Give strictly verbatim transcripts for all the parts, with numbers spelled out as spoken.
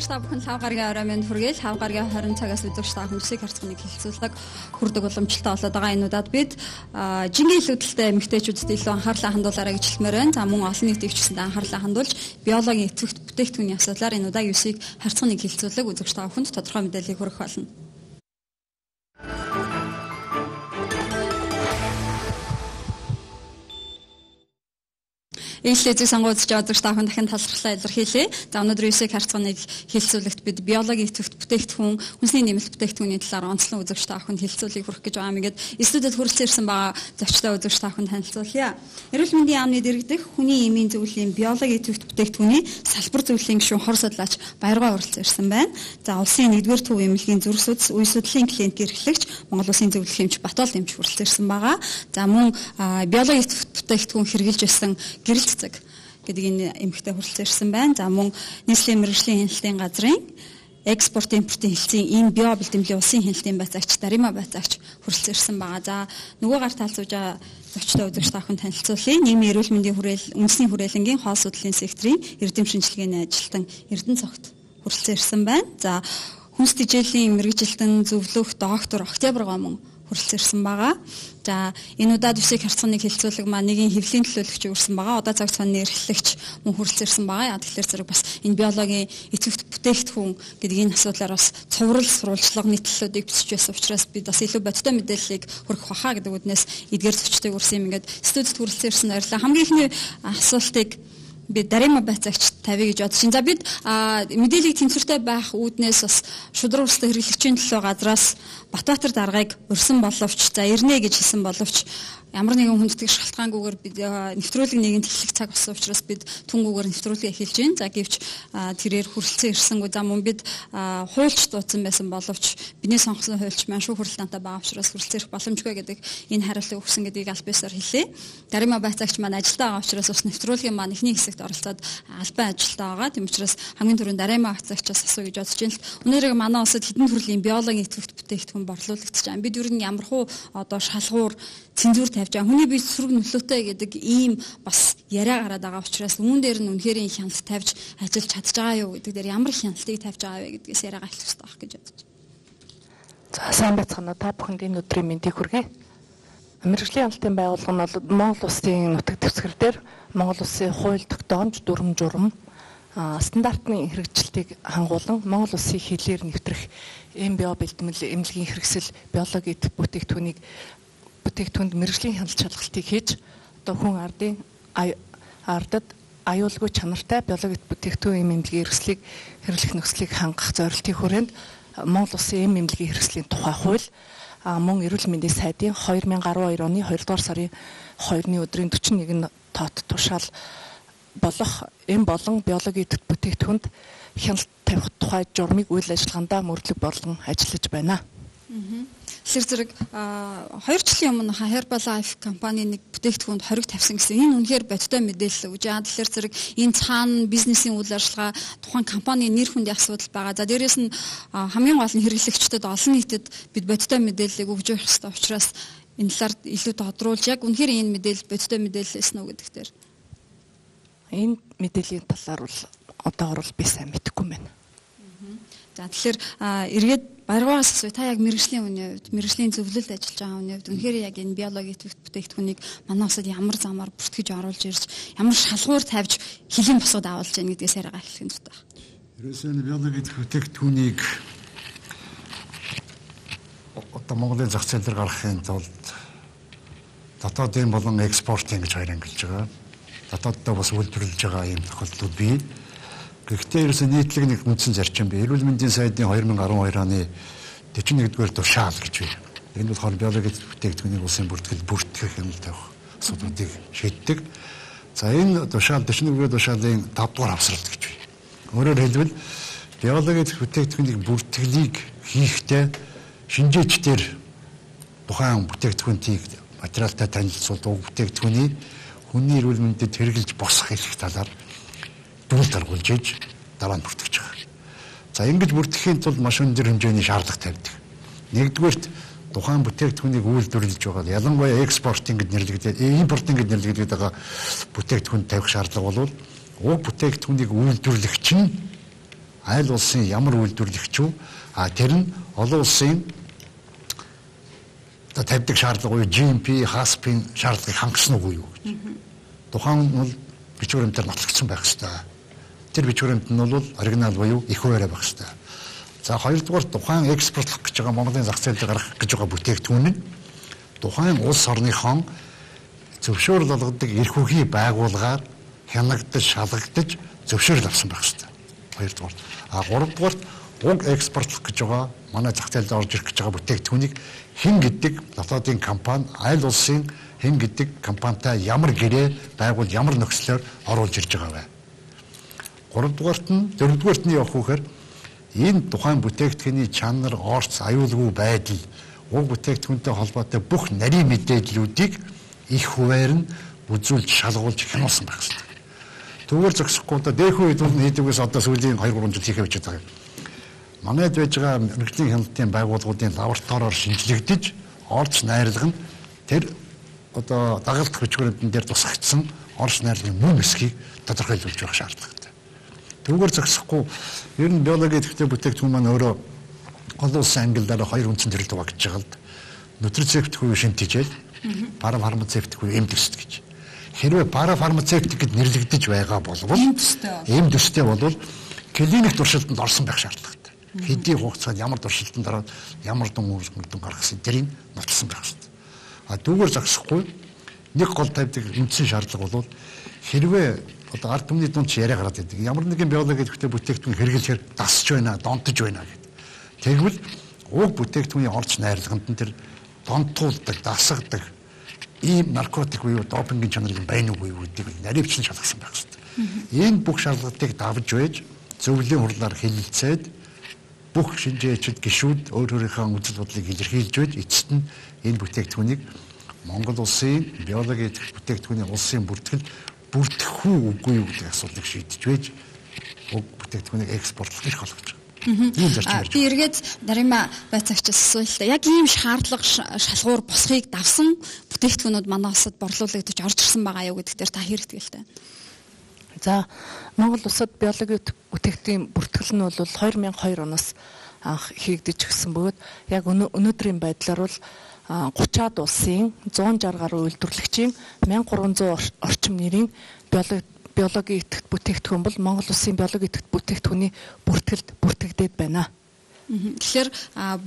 үзэгч та бүхэн лав гарагийн орой минь хүргээл лав гарагийн хорин цагаас үзэгч та бүхэн үсэг харцгааны хэлэлцүүлэг хүрдэг уламжлалтай болоод байгаа энэ удаад бид жингийн илүүдэлтэй эмэгтэйчүүдэд илүү анхаарлаа хандуулаарай гэж хэлмээр байна. За мөн олон нийтийн хүчтэнд анхаарлаа хандуулж биологийн эцэгт бүтээгдэхүүний асуудлаар энэ удаа үсэг харцгааны хэлэлцүүлэг үзэгч та бүхэнд тодорхой мэдээллийг хүргэх болно. Ээлжлэзэг сонгуульч жаадагч та бүхэн дахин талархлаа илэрхийлье. За өнөөдөр үсэг харцгааныг хэлэлцүүлэгт бид биологийн эцэгт бүтээгдэхүүн, хүнсний нэмэлт бүтээгдэхүүний талаар онцлон үзэгч та бүхэнд хэлэлцүүлгийг хүргэх гэж байгаа юм. Ингээд студид хүрэлцэн ирсэн байгаа зочтой үзэгч та бүхэнд танилцуулъя. Эрүүл мэндийн яамны дэргэдэх хүний эмийн зөвлөлийн биологийн эцэгт бүтээгдэхүүний салбар зөвлөлийн гишүүн хор судлаач Баяргаа хүрэлцэн ирсэн байна. За улсын нэгдүгээр төв эмнэлгийн зүрх судас, үе судлалын клиник эрхлэгч, Монгол Улсын зөвлөх эмч Батбол эмч хүрэлцэн ирсэн байгаа. За мөн биологийн эцэгт бүтээгдэхүүн хэрэгжилж байсан гэрэлт цэг гэдэг энэ эмэгтэй хүрэлцэн ирсэн байна. За мөн нийслэлийн мэргэжлийн хяналтын газрын экспорт импортын хэлтсийн энэ био бэлтгэмжийн улсын хяналтын байцаагч Дарима байцаагч хүрэлцэн ирсэн байгаа. За нөгөө гар талцууж байгаа зочтой үзэгч та бүхэн танилцуулъя. Нийгмийн эрүүл мэндийн хүрээл, үндэсний хүрээлэнгийн хоол судлалын секторын эрдэм шинжилгээний ажилтан Эрдэнэ цогт хүрэлцэн ирсэн байна. За хүнс тэжээлийн мэргэжилтэн зөвлөх доктор Октябрь гомон хүрэлцэн ирсэн байгаа. За энэ удаад үсэг харцгааны хэлэлцүүлэг маань нэгэн хэвлэлийн төлөөлөгч өрсөн байгаа. Удаа цаг цааны эрхлэгч мөн хүрэлцэн ирсэн байгаа. Яа тэгэхээр зэрэг бас энэ биологийн эцэгт бүтээгдэхүүн гэдэг энэ асуудлаар бас цуврал сурвалжлага нийтлэлүүдийг бичиж байсан учраас бид бас илүү бодиттой мэдээллийг хүргэх баха гэдэг үднээс эдгээр зочдыг өрсөн юм. Ингээд студид хүрэлцэн ирсэн баярлалаа. Хамгийн ихний асуултыг би Дарима байцаагч тавья гэж бодож байна. За бид мэдээллийг тэнцвэртэй байх үүднээс бас шудраг устай хэрэглэгчийн төлөө газраас Батбаатар даргаыг урьсан боловч за ирнэ гэж хэлсэн боловч ямар нэгэн хүндэтгэх шалтгаангүйгээр бид нэвтрүүлэг нэгэн техник цаг болсон учраас бид түнгүүгээр нэвтрүүлгээ эхэлж байна. За гэвч тэрээр хүрэлцэн ирсэнгүй за мөн бид хуульч дуудсан байсан боловч бидний сонгосон хуульч маань шүүх хуралдаантай байгаа учраас хүрэлцэн ирэх боломжгүй гэдэг энэ хариултыг өгсөн гэдгийг аль биесээр хэлье. Дарима байцаагч маань ажилдаа байгаа учраас бас нэвтрүүлгийн маань эхний хэсэгт оролцоод албан ажилдаа байгаа. Тийм учраас хамгийн түрүүнд Дарима байцаагчаас асууя гэж бодож байна л өнөөдөр манай улсад хэдэн төрлийн биологийн эцэгт бүтээгдэхүүн борлуулагдаж байна. Бид ер нь ямархуу одоо шалгуур цензур тавьж байгаа. Хүний бие сөрөг нөлөөтэй гэдэг ийм бас яриа гараад байгаа учраас үүн дээр нь үнэхээр хяналт тавьж ажиллаж чадж байгаа юу гэдэг дээр ямар хяналтыг тавьж байгаа вэ гэдгээс яриагаа хэлэх хэрэгтэй байх гэж бодож байна. За сайн байцгаана та бүхэнд энэ өдрийн мэндийг хүргэе. Мэргэжлийн хяналтын байгууллага нь бол Монгол Улсын нутаг дэвсгэр дээр Монгол Улсын хууль тогтоомж дүрм журам стандартны хэрэгжилтийг хангуулан Монгол Улсын хилээр нэвтрэх эм био бэлтгэл эмнэлгийн хэрэгсэл биологийн бүтээгдэхүүнийг бүтээгдэхүүнд мэргэжлийн хяналт шалгалтыг хийж одоо хүн ардын ардад аюулгүй чанартай биологийн бүтээгдэхүүн эм эмнэлгийн хэрэгслийг хэрэглэх нөхцөлийг хангах зорилтын хүрээнд Монгол Улсын эм эмнэлгийн хэрэгслийн тухай хууль мөн эрүүл мэндийн сайдын две тысячи двадцать two оны хоёрдугаар сарын second өдрийн forty-one тоот тушаал болох эм болон биологийн бүтээгдэхүүнд хяналт тавих тухай журмыг үйл ажиллагаандаа мөрдлөг болгон ажиллаж байна. Тэгэхээр зэрэг хоёр жилийн өмнө Herbal Life компани нэг бүтээгдэхүүнд хориг тавьсан гэсэн энэ үнэхээр бодиттой мэдээлэл өгж байгаа. Тэгэхээр зэрэг энэ цаана бизнесийн үйл ажиллагаа тухайн компанийн нэр хүндийн асуудал байгаа. За дээрээс нь хамгийн гол нь хэрэглэгчдэд олон нийтэд бид бодиттой мэдээллийг өгж явах хэрэгтэй учраас энэ талаар илүү тодруулж яг үнэхээр энэ мэдээлэл бодиттой мэдээлэл эснэ үү гэдэг дээр. Энэ мэдээллийн талаар бол одоогор бол би сайн мэдэхгүй байна. За тэгэхээр эргээд Баяргаас асууя та яг мэргэжлийн үний хувьд мэргэжлийн зөвлөлд ажиллаж байгаа үний хувьд үнэхээр яг энэ биологийн бүтээгдэхүүнийг манай улсад ямар замаар бүртгэж оруулж ирж ямар шалгуур тавьж хэлийн босоод авалж яах гэдгээс яриагаа эхлэх нь зүйтэй байна. Ерөөсөө биологийн бүтээгдэхүүнийг одоо Монголын зах зээл дээр гаргахын тулд дотоодын болон экспортын гэж хоёр ангилж байгаа. Дотооддоо бас үйлдвэрлэж байгаа юм тохиолдлууд бий. Гэхдээ ерөөсөө нийтлэг нэг үндсэн зарчим бий. Эрүүл мэндийн сайдын twenty twelve оны forty-one-р тушаал гэж бий. Энэ болохоор биологийн бүтээгдэхүүнийг улсын бүртгэл бүртгэх юм тавих асуудлуудыг шийддэг. За энэ тушаал forty-one-р тушаалын five дугаар хавсралт гэж бий. Өөрөөр хэлбэл биологийн бүтээгдэхүүнийг бүртгэлийг хийхдээ шинжээчдэр тухайн бүтээгдэхүүнийг материалтай танилцуулдаг бүтээгдэхүүнийг хүний эрүүл мэндэд хэрэглэж босох хэлэх талаар дүгнэлт гаргуулж иж дараа нь бүртгэж байгаа. За ингэж бүртгэхийн тулд маш өндөр хэмжээний шаардлага тавьдаг. Нэгдүгээрт тухайн бүтээгдэхүүнийг үйлдвэрлэж байгаа ялангуяа экспортинг гэж нэрлэгдээд импортинг гэж нэрлэгдээд байгаа бүтээгдэхүүн тавих шаардлага бол уг бүтээгдэхүүнийг үйлдвэрлэгч нь аль улсын ямар үйлдвэрлэгч үү? А тэр нь олон улсын одоо тавьдаг шаардлага уу, джи эм пи, хаспын шаардлагыг хангасан уу юу гэж. Тухайн нь бол бичвэр баримтаар нотлогдсон байх ёстой. Тэр бичвэр баримт нь бол оригинал буюу их хуваарай байх ёстой. За хоёрдугаар тухайн экспортлох гэж байгаа Монголын зах зээл дээр гарах гэж байгаа бүтээгдэхүүн нь тухайн улс орныхон зөвшөөрөл олгодог эрх үхий байгууллагаар хянагдаж, шалгагдаж зөвшөөрөл авсан байх ёстой. Хоёрдугаар. А гуравдугаар уг экспортлох гэж байгаа манай зах зээлд орж ирэх гэж байгаа бүтээгдэхүүнийг хэн гэдэг дотоодын компани, аль улсын хэн гэдэг компанитай ямар гэрээ байгуул, ямар нөхцлөөр оруулж ирж байгаа вэ? Гуравдугаарт нь, дөрөвдүгээрт нь явах үхээр энэ тухайн бүтээгдэхүүний чанар, орц, аюулгүй байдал, уг бүтээгдэхүүнтэй холбоотой бүх нарийн мэдээллүүдийг их хуваар нь үзүүлж, шалгуулж хянуулсан байх ёстой. Түүгээр зогсохгүй одоо дээхүү үед нь хийдэгээс одоо сүүлийн хоёр гурван жил хийхээ бичиж байгаа юм. Манайд байж байгаа мэргэжлийн хяналтын байгууллагуудын лабораториор шинжилэгдэж, орц найрлага нь тэр одоо дагалдах бичвэрүүдэн дээр тусгагдсан орц найрлагын мөн эсхийг тодорхойлуулж явах шаардлагатай. Түүгээр зогсохгүй ер нь биологи идэвхтэй бүтээгдэхүүн маань өөрөө олон улсын ангиллаараа хоёр үндсэн төрөлд байгаа гэж байгаа л да. Нутрицептикгүй шинтижэл, парафармацевтикгүй эмдэст гэж. Хэрвээ парафармацевтик гэд нэрлэгдэж байгаа болвол эм төстэй болвол клиник туршилтанд орсон байх шаардлагатай. Хэдийн хугацаанд ямар туршилтанд ороод ямар дүн үргэлжлэн гаргасан тэрийг нотлсон байх хэрэгтэй. А түүгээр зогсохгүй нэг гол тавьдаг үндсэн шаардлага бол хэрвээ одоо ард түмний дунд ч яриа гараад байдаг. Ямар нэгэн биологи идэвхтэй бүтээгдэхүүн хэрэглэхээр дасч байна, донтож байна гэдэг. Тэгвэл уг бүтээгдэхүүний орц найрлаганд нь тэр донтуулдаг, дасгадаг ийм наркотик буюу допингийн чанарыг байна уу гэдгийг наривчлан шалгасан байх хэрэгтэй. Энэ бүх шалгалтыг давж байж зөвлөлийн хурлаар хэлэлцээд бүх шинжээчид, гишүүд өөр өөрийнхөө үзэл бодлыг илэрхийлж байж эцэст нь энэ бүтээгдэхүүнийг Монгол улсын биологи бүтээгдэхүүний улсын бүртгэл бүртгэх үү үгүй юу гэдэг асуудлыг шийдэж байж уг бүтээгдэхүүнийг экспортлох эрх олгож байгаа. Би эргээд Дарима байцаагчаас асуултаа яг ийм шаардлага шалгуур босхийг давсан бүтээгдэхүүнүүд манай улсад борлуулагдаж орж ирсэн байгаа юу гэдэг дээр та хэрэг тгийлтэй. За Монгол улсад биологи бүтээгдэхүүн бүртгэл нь бол хоёр мянган хоёр оноос анх хийгдэж гисэн бөгөөд яг өнөөдрийн байдлаар бол гучаад улсын зуун жаргал гаруй үйлдвэрлэгчийн мянга гурван зуун орчим нэрийн биологи биологи идэвхт бүтээгдэхүүн бол Монгол улсын биологи идэвхт бүтээгдэхүүний бүртгэлд бүртгэгдээд байна. Тэгэхээр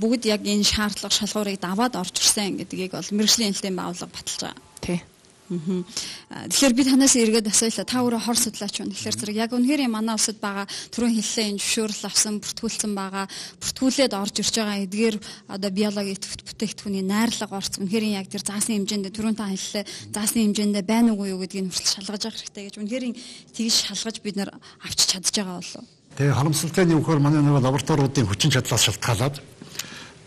бүгд яг энэ шаардлага шалгуурыг даваад орж ирсэн гэдгийг бол мэргэжлийн хэлтийн байгууллага баталж байгаа. Тий. Тэгэхээр би танаас эргээд асуулаа. Та өөрөө хор судлаач байна. Тэгэхээр зэрэг яг үнэхээр манай улсад байгаа түрүүн хэллээ энэ зөвшөөрөл авсан, бүртгүүлсэн байгаа, бүртгүүлээд орж ирж байгаа эдгээр одоо биологи идэвхт бүтээгдэхүүний найрлага орц үнэхээр яг тэр заасан хэмжээнд түрүүн та хэллээ заасан хэмжээнд байна уугүй юу гэдгийг хүртэл шалгаж авах хэрэгтэй гэж үнэхээр тэгж шалгаж бид нар авч чадж байгаа болов. Тэгээ харамсалтай нь өгөхөр манай нэг лабораториудын хүчин чадлаас шалтгаалаад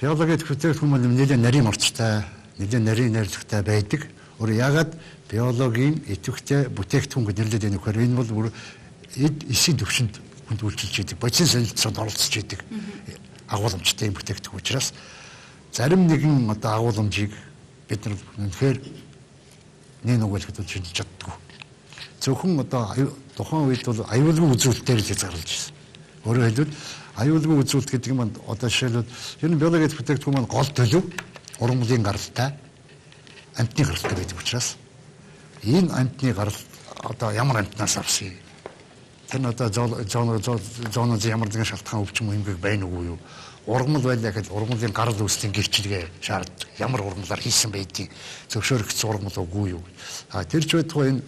биологи идэвхт бүтээгдэхүүн маань нэлээд нарийн орцтой, нэлээд нарийн найрлагатай байдаг. Өөр яагаад биологийн идэвхтэй бүтээгдэхүүн гэж нэрлэдэг энэ хөр энэ бол эд эсийн төвшөнд хүнд үйлчилж идэг, бодисын солилцоонд оролцож идэг агуулмжтай юм бүтээгдэхүүн учраас зарим нэгэн одоо агуулмжийг бид нар үнэхээр нэг нүгэлэхэд шинжилж чаддгүй. Зөвхөн одоо тухайн үед бол аюулгүй үзүүлэлтээр л хязгаарлаж ирсэн. Өөрөөр хэлбэл аюулгүй үзүүлэлт гэдэг нь одоо жишээлбэл ер нь биологи бүтээгдэхүүн маань гол төлөв ургамлын гаралтай амтны гаралтай байдаг учраас энэ амтны гарал одоо ямар амтнаас авсан юм? Тэр нь одоо зооноз ямар нэгэн шалтгаан өвчин хэмжээг байна уу юу? Ургамал байлаа гэхэд ургамлын гарал үүслийн гэрчлэгээ шаарддаг. Ямар ургамлаар хийсэн байдгийг зөвшөөрөгдсөн ургамал үгүй юу? А тэр ч байтугай энэ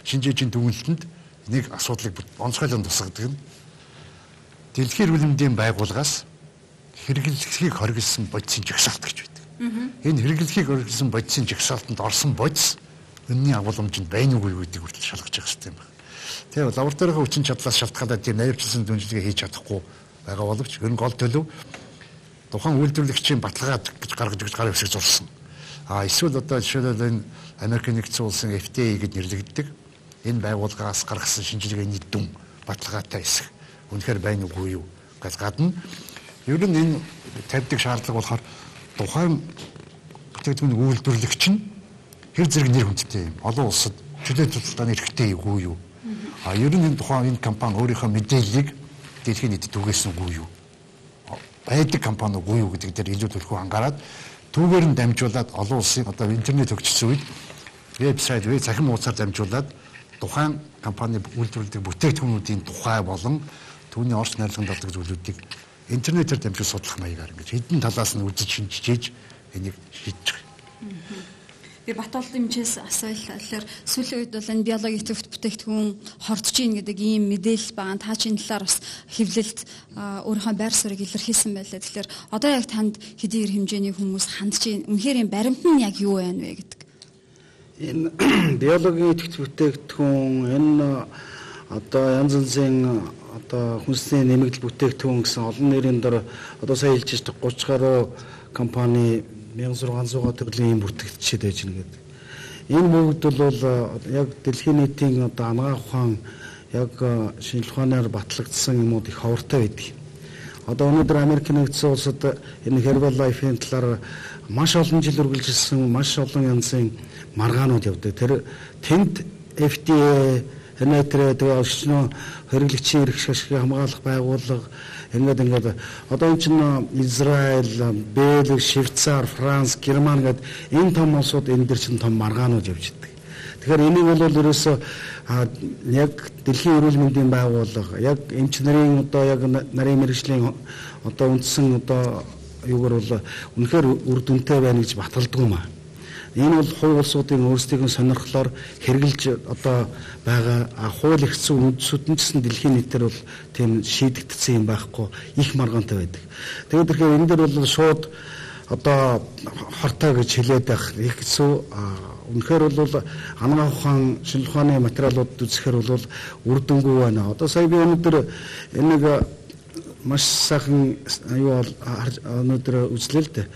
шинжээчийн дүгнэлтэнд нэг асуудлыг онцгойлон тусгадаг нь дэлхийн эрүүл мэндийн байгууллагаас хэрэглэхийг хориглосон бодисын жагсаалт гэж байдаг. Энэ хэрэглэхийг хориглосон бодисын жагсаалтанд орсон бодис үнний агуулмжинд байна уугүй гэдгийг хүртэл шалгаж явах хэрэгтэй юм байна. Тэгээ лабораторийн хүчин чадлаас шалтгаалаад тийм наривчлсан дүнжлэгээ хийж чадахгүй байгаа боловч ер нь гол төлөв тухайн үйлдвэрлэгчийн баталгаа гэж гаргаж өгч гарын хэсэг зурсан. А эсвэл одоо жишээлбэл энэ Америк нэгдсэн улсын эф ди эй гэж нэрлэгддэг энэ байгууллагаас гаргасан шинжилгээний дүн баталгаатай хэсэг үнэхээр байна уугүй юу гэж гадна ер нь энэ тавьдаг шаардлага болохоор тухайн бүтээгдэхүүн үйлдвэрлэгч нь хэр зэрэг нэр хүндтэй юм олон улсад чөлөө тусалдааны эрхтэй юу юу а ер нь энэ тухайн энэ компани өөрийнхөө мэдээллийг дэлхийн нийтэд түгээсэнгүй юу? Байдаг компаниугүй юу гэдэг дээр илүү төлхөө анхаарад түүгээр нь дамжуулаад олон улсын одоо интернет хөгжсөн үед вебсайт, веб цахим хуудасаар дамжуулаад тухайн компани үйлдвэрлэдэг бүтээгдэхүүнүүдийн тухай болон түүний орч найрлаганд ордог зүйлүүдийг интернетээр дамжуул судлах маягаар ингэж хэдэн талаас нь үзэж шинжиж энийг шийдэж байгаа. Би Батболд эмчээс асуулахаар сүүлийн үед бол энэ биологийн төвт бүтээгдэхүүн хордож ийн гэдэг ийм мэдээлэл байгаа. Та чинь талаар бас хэвлэлд өөрийнхөө байр суурийг илэрхийлсэн байлаа. Тэгэхээр одоо яг танд хэдийгээр хэмжээний хүмүүс хандж ийн үнэхээр энэ баримт нь яг юу байна вэ гэдэг. Энэ биологийн төвт бүтээгдэхүүн энэ одоо янз янзын одоо хүнсний нэмэгдэл бүтээгдэхүүн гэсэн олон нэрийн дор одоо сая хэлж байгаа гурван гаруй компани мянга зургаан зуун төрлийн бүтээгдэхчид байж гэнэ гэдэг. Энэ бүгд бол яг дэлхийн нийтийн одоо анагаах ухаан яг шинжлэх ухаанаар батлагдсан юмуд их ховортой байдаг. Одоо өнөөдөр Америк нэгдсэн улсад энэ Herbalife-ийн талаар маш олон жил үргэлжилсэн маш олон янзын маргаанууд явдаг. Тэр тэнд эф ди эй энэтрэ тэгээ өчнө хэрэглэгчийн эрх ашигын хамгаалах байгууллага ингээд ингээд одоо энэ чинь Израиль, Бельги, Швейцар, Франц, Герман гэдэг энэ том улсууд энэ дэр чинь том маргаанууд явж байдаг. Тэгэхээр энийг бол ерөөсөө яг дэлхийн эрүүл мэндийн байгууллага, яг эмч нарын одоо яг нарийн мэргэжлийн одоо үндсэн одоо юугаар бол үнэхээр үр дүнтэй байна гэж баталдаг юм аа. Энэ бол хувь улсуудын өөрсдийн сонирхлоор хэрэгжилж одоо байгаа хууль эрх зүйн үндсүүд нь гэсэн дэлхийн нийтээр бол тийм шийдэгдсэн юм байхгүй их маргаантай байдаг. Тэгээд тэгэхээр энэ дээр бол шууд одоо хортой гэж хэлээд байх их хэцүү. Үнэхээр бол анагаах ухаан шинжлэх ухааны материалууд үзэхээр бол үр дүнгүй байна. Одоо сая би өнөөдөр энийг маш сайхан аюу өнөөдөр үзлээ л дээ.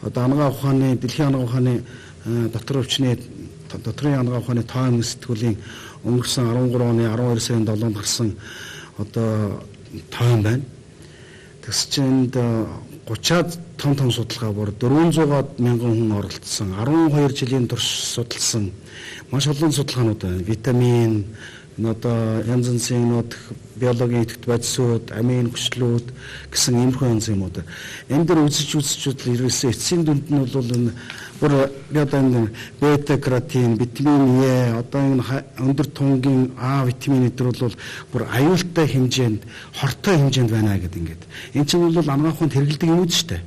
Одоо анагаах ухааны дэлхийн анагаах ухааны дотор өвчний дотрын анагаах ухааны тоон сэтгүүлийн өнгөрсөн арван гурван оны арван хоёр сарын долоонд гарсан одоо тоон байна. Тэгс чинь гучаад том том судалгаа бүр дөрвөн зуун мянган хүн оролцсон, арван хоёр жилийн турш судалсан маш олон судалгаанууд байна. Витамин, одоо янз янзын нот биологийн идэвхтэй бодисууд, амин хүчлүүд гэсэн иймэрхүү янз юмуд. Энэ дээр үзэж үзэж ирсэн эцсийн дүнд нь бол энэ бүр одоо энэ бета-каротин, витамин Е, одоо энэ өндөр тунгийн А витамин эдгээр бол бүр аюултай хэмжээнд, хортой хэмжээнд байна гэдэг ингээд. Энэ чинь бол анагаах ухаанд хэрэглэдэг юм уу шүү дээ.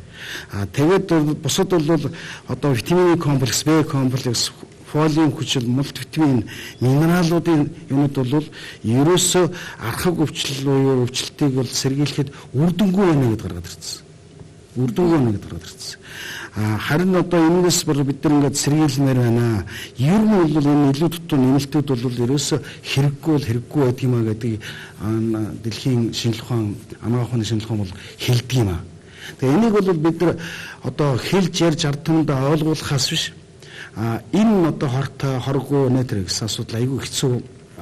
А тэгээд бусад бол одоо витамин комплекс, Б комплекс, фолиум хүчил, мультивитамин, минералуудын юмуд бол ерөөсөө архаг өвчлөл буюу өвчлөлтийг бол сэргийлэхэд үр дүнгүй байна гэдээ гаргаад ирсэн. Үр дүнгүй байна гэдээ гаргаад ирсэн. А харин одоо энэс бүр бид нар ингээд сэргийлмээр байна. Ер нь бол энэ илүү дутуу нэмэлтүүд бол ерөөсөө хэрэггүй бол хэрэггүй байдаг юм а гэдэг дэлхийн шинжлэх ухаан, анагаах ухааны шинжлэх ухаан бол хэлдэг юм а. Тэгээ энийг бол бид нар одоо хэлж ярьж ард түмэндээ ойлгуулахаас биш. А энэ одоо хортой хоргүй нэтэр гэсэн асуудал айгүй хэцүү,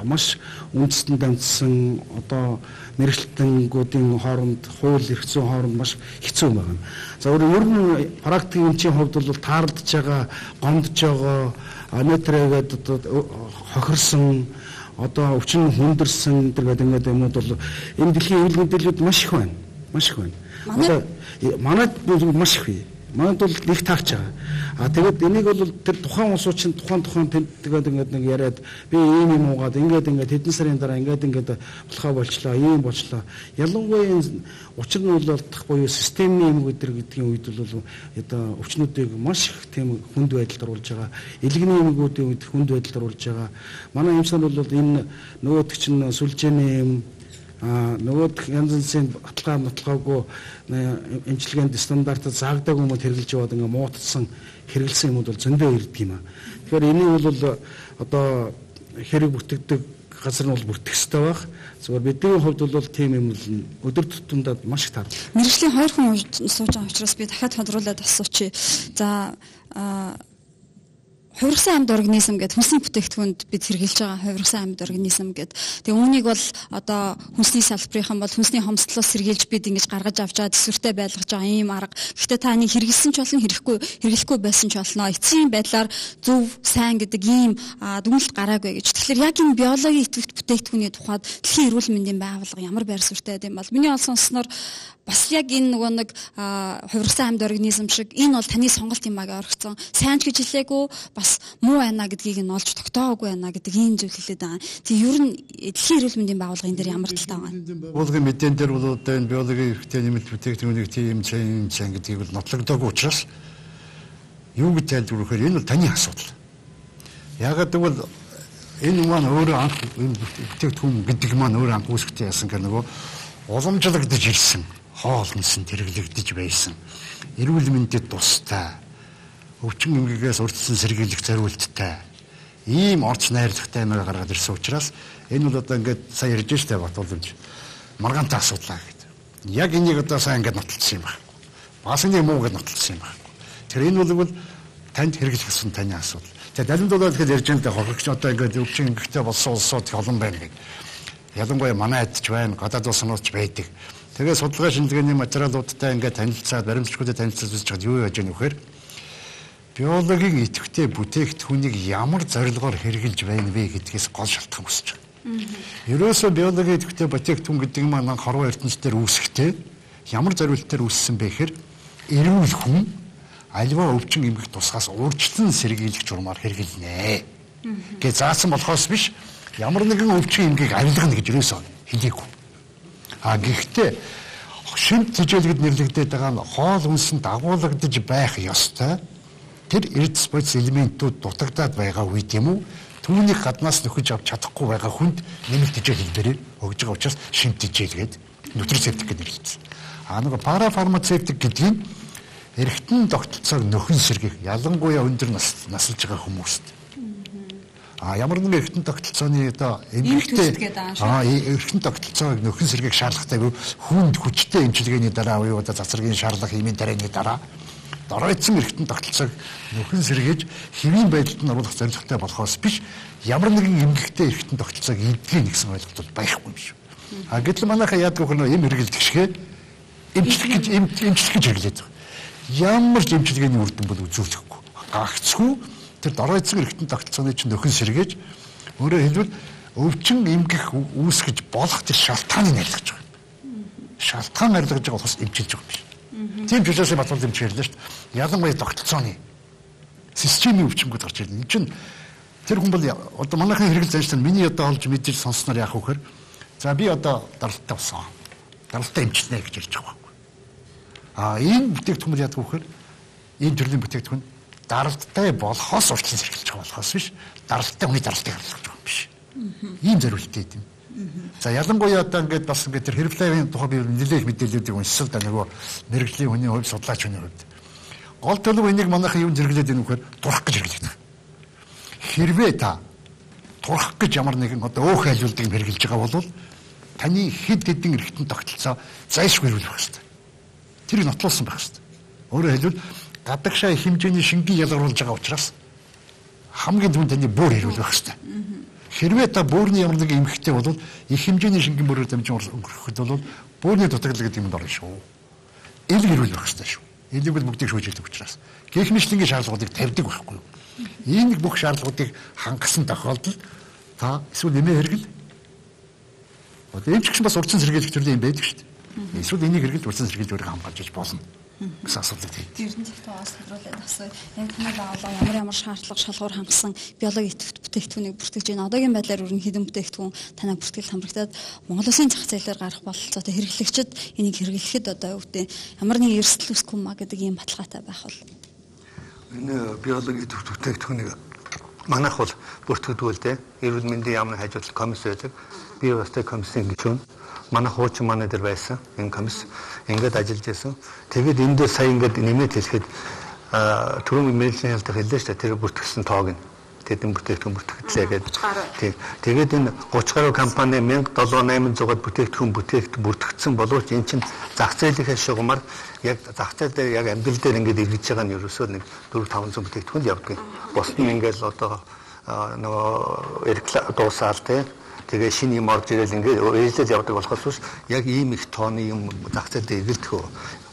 маш үндэстэн дамжсан одоо мэрэгчлэнгүүдийн хооронд хууль эрх зүйн хооронд маш хэцүү байна. За өөр нь практик эмчийн хувьд бол таарлаж байгаа, гомдж байгаа, нэтрэгээд одоо хохирсон, одоо өвчин хүндэрсэн гэдэг ингээд юмуд бол энэ дэлхийн эрүүл мэдээлэлд маш их байна. Маш их байна. Одоо манайд маш их бий. Манайд бол нэг таагч байгаа. А тэгээд энийг бол тэр тухайн улсууд чинь тухайн тухайн тэгээд ингээд нэг яриад би ийм юм уугаад ингээд ингээд хэдэн сарын дараа ингээд ингээд болохоо болчлоо, ийм болчлоо. Ялангуяа энэ учир нь бол алдах буюу системийн юм өдр гэдгийн үед бол одоо өвчнүүдийг маш их тийм хүнд байдалд оруулж байгаа. Илгэний эмгүүдийн үед хүнд байдалд оруулж байгаа. Манай эмчнэр бол энэ нөгөөдөг чинь сүлжээний юм а нөгөө янз янзын баталгаа баталгаагүй эмчилгээнд стандартад заагдаагүй юмуд хэрэгжилж яваад ингээ муутсан хэрэгэлсэн юмуд бол зөндөө ирдэг юм а. Тэгэхээр энийг бол одоо хэрэг бүртгэдэг газар нь бол бүртгэх ёстой байх. Зүгээр бидний хувьд бол тийм юм өдөр тутамдаа маш их таардаг. Мэргэжлийн хоёр хүн сууж байгаа учраас би дахиад тодруулаад асуучих. За хувирсан амьд организм гэдэг хүнсний бүтээгдэхүүнд бид хэрэгжилж байгаа хувирсан амьд организм гэдэг. Тэгээ үүнийг бол одоо хүнсний салбарынхан бол хүнсний хомсдлоос сэргийлж бид ингэж гаргаж авч байгаа төсвөртэй байлгаж байгаа ийм арга. Гэхдээ та нэг хэрэгэлсэн ч болно, хэрэггүй хэрэглэхгүй байсан ч болно. Эцсийн байдлаар зөв, сайн гэдэг ийм дүгнэлт гараагүй гэж. Тэгэхээр яг энэ биологийн идэвхтэй бүтээгдэхүүний тухайд дэлхийн эрүүл мэндийн байгууллага ямар байр суурьтай байд юм бол миний олсон сонсноор бас яг энэ нөгөө нэг хувирсан амьд организм шиг энэ бол таны сонголт юм аа гэж оргицсон. Сайн ч гэж хэлээгүй, бас муу байна гэдгийг нь олж тогтоогүй байна гэдэг ийм зүйл хэлээд байгаа. Тэг ер нь дэлхийн эрүүл мэндийн байгууллагын дээр ямар талтай байгаа юм? Байгууллагын мэдэн дээр бол одоо энэ биологийн эвхтэй нэмэлт бүтээгдэхүүнийг тийм чейн чейн гэдгийг бол нотлогдоогүй учраас юу гэж тайлбарлахаар энэ бол таны асуудал. Яагаад гэвэл энэ маань өөрөө анх энэ бүтээгдэхүүн гэдэг маань өөрөө анх үүсгэхдээ яасан гэх нөгөө уламжлагдж ирсэн, хоол хүнсэнд хэрэглэгдэж байсан. Эрүүл мэндэд тустай, өвчин эмгэгээс урдсан сэргийлэх зориулттай ийм орц найрлагтай юмар гаргаад ирсэн учраас энэ бол одоо ингээд сая ярьж штэ Батууламж маргаантай асуудлаа гэдэг. Яг энийг одоо сайн ингээд нотолцсон юм байна. Бас нэг муу гэж нотолцсон юм байна. Тэр энэ бол танд хэрэглэх гэсэн таны асуудал. Тэгээ далинд бол тэгэхээр ярьж байгаа хохирогч одоо ингээд өвчин эмгэгтэй болсон улсууд олон байна гэдэг. Ялангуяа манай адч байна, гадаад улсынууд байдаг. Тэгээ судалгаа шинжилгээний материалуудтай ингээд танилцаад, баримтчгуудад танилцуулж байгаа юу яаж яах вэ гэхээр биологийн идэвхтэй бүтээгдэхүүнийг ямар зорилгоор хэрэгжилж байна вэ гэдгээс гол шалтгаан үүсэж байна. Ерөөсөө биологийн идэвхтэй бүтээгдэхүүн гэдэг нь маань хорвоо ертөнцийн үүсэхдээ ямар зорилтоор үүссэн бэ гэхээр эрүүл хүн альва өвчин эмгэх тусгаас урьдчилан сэргийлэх журмаар хэрэгжилнэ. Гэ заасан болохоос биш ямар нэгэн өвчин эмгийг авилгана гэж ерөөсөө хэлээгүй. А гэхдээ шимт тэжээлгэд нэрлэгдээд байгаа нь хоол хүнсэнд дагуулгадж байх ёстой. Тэр эрдэс бодис элементүүд дутагдаад байгаа үед юм уу? Түүнийг гаднаас нөхөж авч чадахгүй байгаа хүнд нэмэлт тэжээлэлээр өгж байгаа учраас шимт тэжээлгээд нутрицептик гэж нэрлэгдсэн. А нэг парафармацевтик гэдэг нь эргэтэн тогтолцоог нөхөн сэргийх, ялангуяа өндөр нас насалж байгаа хүмүүст. А ямар нэгэн эргэтэн тогтолцооны одоо эмгэгтэй а эргэтэн тогтолцоог нөхөн сэргийх шаардлагатай хүнд хүчтэй эмчилгээний дараа уу одоо цацрагийн шаардлага хэмээн дарааны дараа доройтсон эргэтэн тогтолцоог нөхөн сэргийж хэвийн байдалд нь оруулах зорилготой болохоос биш ямар нэгэн эмгэгтэй эргэтэн тогтолцоог эдгээр нэгсэн ойлголт байхгүй юм шүү. А гэтэл манайхаа яадаг вэ эм хэрэгэлдэг шигэ эмчлэх гэж эмчлэх гэж хэрэглээд байгаа. Ямар ч эмчилгээний үр дүн бол үзүүлэхгүй. Гагцгүй тэр доройтсон эргэтэн тогтолцооны чинь нөхөн сэргээж өөрөөр хэлбэл өвчин эмгэх үүсгэж болох тэр шалтгааныг арилгаж байгаа. Шалтгаан арилгаж байгаа болохос эмчилж байгаа юм биш. Тийм ч учраас Батууламж эмч ярьлаа шүү дээ. Ялангуяа тогтолцооны системийн өвчмөд гарч ирнэ. Энэ чинь тэр хүн бол одоо манайхын хэрэгэл занштай миний одоо олж мэдээж сонссноор яах вэ гэхээр за би одоо даралтай болсон. Даралтай эмчилнэ гэж ярьж байгаа байхгүй. А энэ бүтээгдэхүүн яадаг вэ гэхээр энэ төрлийн бүтээгдэхүүн даралтай болохоос урьдчилан сэргийлж байгаа болохоос биш даралтай хүний даралтыг харилцаж байгаа юм биш. Ийм зорилттой юм. За ялангуяа одоо ингээд бас ингээд тэр хэрэглээний тухай би нэлээх мэдээллүүдийг уншсан да нөгөө мэрэгжлийн хүний хувьд судлаач хүний хувьд гол төлөв энийг манайхан юу зэрэглээд ийм вэхээр турах гэж хэрэглэдэг. Хэрвээ та турах гэж ямар нэгэн одоо өөх айлуулдаг юм хэрэглэж байгаа бол таны хэд хэдэн эргэтэн тогтолцоо зайлшгүй хэрэглэх хэрэгтэй. Тэрийг нотлуулсан байх хэрэгтэй. Өөрөөр хэлбэл гадагшаа хэмжээний шингийн ялгаруулж байгаа учраас хамгийн түрүүнд таны бүр хэрүүл байх хэрэгтэй. Хэрвээ та буурны ямар нэг эмхтэй бол их хэмжээний шингийн бүрээр дамжин өнгөрөхөд бол буурны дутагдал гэдэг юмд орно шүү. Ил хэрүүл байх хэрэгтэй шүү. Элийг бол бүгдийг шүүжүүлдэг учраас гихмишлингийн шаардлагуудыг тавьдаг байхгүй юу? Энэ бүх шаардлагуудыг хангасан тохиолдолд та эсвэл нэмээ хэрэгэл одоо эмч гэсэн бас урдсан сэргийлэх төрлийн юм байдаг шүү дээ. Эсвэл энийг хэрэгэл урдсан сэргийлж өөрийгөө хамгаалж болно. Гэсэн асуудал тийм. Тэр нь зөвхөн асуулуулаад асууя. Яг танай байгууллага ямар ямар шаардлага шалгуур хангасан биологийн идэвхтэй бүтээгдэхүүнийг бүртгэж байна. Одоогийн байдлаар ерөнхийдөө бүтээгдэхүүн танай бүртгэл хамрагдаад Монгол Улсын зах зээлээр гарах бололцоотой хэрэглэгчид энийг хэрэглэхэд одоо өвдөө ямар нэгэн эрсдэл үүсэхгүй маа гэдэг ийм баталгаатай байх бол. Энэ биологийн идэвхтэй бүтээгдэхүүнийг манайх бол бүртгэдэг л дээ. Эрүүл мэндийн яамны хажуудлах комисс байдаг. Би бас тэр комиссийн гишүүн. Манай хуучин манай дээр байсан энэ комисс ингээд ажиллаж байсан. Тэгээд энэ дээр сая ингээд нэмээд хэлэхэд түрүүн мэрэгжлийн хэлдэг хэллээ шүү дээ. Тэр бүртгэсэн тоог нь тэдэн бүтээгдэхүүн бүртгэгдлээ гэдэг. Тийм. Тэгээд энэ гуч гаруй компани мянга долоо найманзуугаад бүтээгдэхүүн бүтээгт бүртгэгдсэн боловч эн чинь зах зээлийн шугамар яг зах зээл дээр яг амьдрал дээр ингээд эргэж байгаа нь ерөөсөө нэг дөрвөн таван зуун бүтээгдэхүүн явдаг. Босд нь ингээд одоо нөгөө реклам дуусаал тийм. Тэгээ шинэ юм орж ирэл ингээд ээлжил явдаг болохоос биш яг ийм их тооны юм зах зээл дээр эргэлдэх.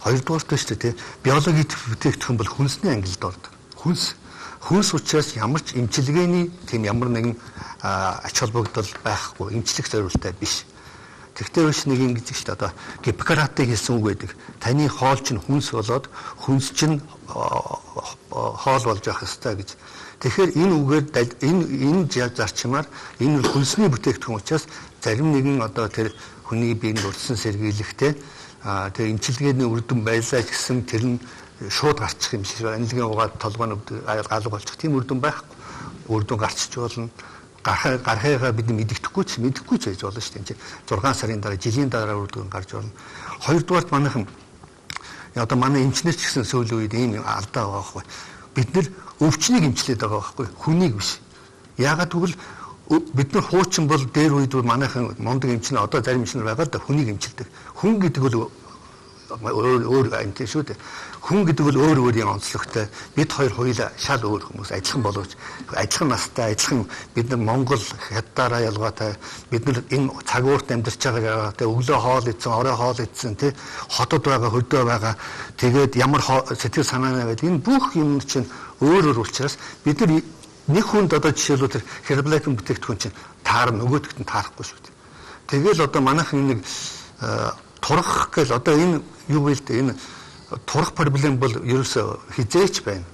Хоёрдугаар нь шүү дээ тийм. Биологийн бүтээгдэхүүн бол хүнсний ангилалд ордог. Хүнс Хүнс учраас ямар ч эмчилгээний тийм ямар нэгэн ач холбогдол байхгүй, эмчлэх зорилттой биш. Тэгтээ биш нэг ингэж шүү дээ одоо Гиппократыг хэлсэн үг байдаг. Таны хоол чинь хүнс болоод хүнс чинь хоол болж явах ёстой гэж. Тэгэхээр энэ үгээр энэ энэ зарчмаар энэ хүнсний бүтээгдэхүүн учраас зарим нэгэн одоо тэр хүний биеинд урдсан сэргийлэхтэй тэр эмчилгээний үр дүн байлаа гэсэн тэр нь шууд гарчих юм шиг анилгийн угаад толгойн алга болчих тийм үр дүн байхгүй. Үр дүн гарчиж болно. Гарах гарахыгаа бид мэддэхгүй ч мэдэхгүй ч байж болно шүү дээ. зургаан сарын дараа жилийн дараа үр дүн гарч болно. Хоёрдугаарт манайхан одоо манай эмчнэр ч гэсэн сүүлийн үед ийм алдаа байгаа байхгүй. Бид нэр өвчнийг эмчлээд байгаа байхгүй. Хүнийг биш. Яагаад гэвэл бид нар хуучин бол дээр үед манайхан мондөг эмчнэр одоо зарим эмчнэр байгаа да хүнийг эмчилдэг. Хүн гэдэг бол өөр өөр анти шүү дээ. Хүн гэдэг бол өөр өөрийн онцлогтой. Бид хоёр хоёулаа шал өөр хүмүүс адилхан боловч адилхан настай, адилхан бид нар Монгол хятадаараа ялгаатай. Бид нар энэ цагуурт амьдарч байгаа те өглөө хоол идсэн, орой хоол идсэн те хотод байгаа, хөдөө байгаа. Тэгээд ямар сэтгэл санаанаа гэдэг энэ бүх юм чинь өөр өөр учраас бид нар нэг хүнд одоо жишээлбэл тэр Herbalife бүтээгдэхүүн чинь таар нөгөөдөгт нь таарахгүй шүү дээ. Тэгэл одоо манайхан нэг турах гэл одоо энэ юу вэ л дээ энэ турах проблем бол ерөөсөө хизээч байна.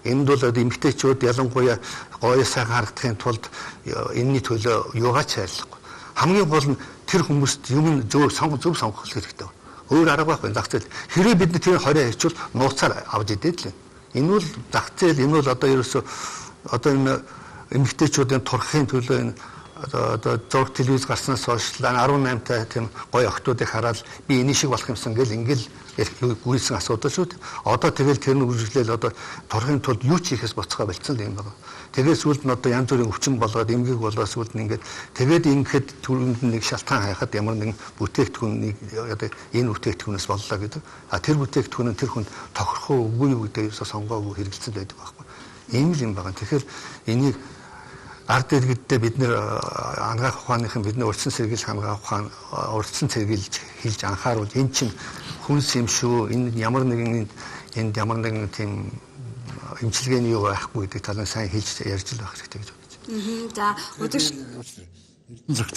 Энд бол эмэгтэйчүүд ялангуяа гоё сайхан харагдахын тулд энэний төлөө юугаач хайрлахгүй. Хамгийн гол нь тэр хүмүүст юм зөв сонгох зөв сонгох хэрэгтэй. Өөр арга байхгүй зах зээл. Хэрвээ бид тэр хорой хийчвэл нууцаар авч идээд л. Энэ бол зах зээл энэ бол одоо ерөөсөө одоо энэ эмэгтэйчүүдийн турахын төлөө энэ одоо зураг телевиз гарснаас хойш арван найман та тийм гоё охтуудыг хараад би энэ шиг болох юмсан гэл ингээл гүйсэн асуудал шүү дээ. Одоо тэгэл тэр нь үргэлжлээл одоо турахын тулд юу ч хийхээс боцгоо болцсон юм байна. Тэгээд сүүлд нь одоо янз бүрийн өвчин болоод эмгэг болоод сүүлд нь ингээд тэгээд ингэхэд түрүүнд нэг шалтгаан хайхад ямар нэгэн бүтээгдэхүүнийг одоо энэ бүтээгдэхүүнээс боллоо гэдэг. А тэр бүтээгдэхүүн нь тэр хүнд тохирох үгүй юу гэдэг сонгоогүй хэрэгэлцэн байдаг байхгүй. Ийм л юм байна. Тэгэхээр энийг ард иргэддээ бид нэр ангаах ухааныхан бидний урдсан сэргийлж хамгаах ухаан урдсан сэргийлж хийж анхааруул эн чинь хүнс юм шүү энэ ямар нэгэн энд ямар нэгэн тийм эмчилгээний юу байхгүй гэдэг талаар сайн хэлж ярьж л байх хэрэгтэй гэж бодож байна. За өдөрш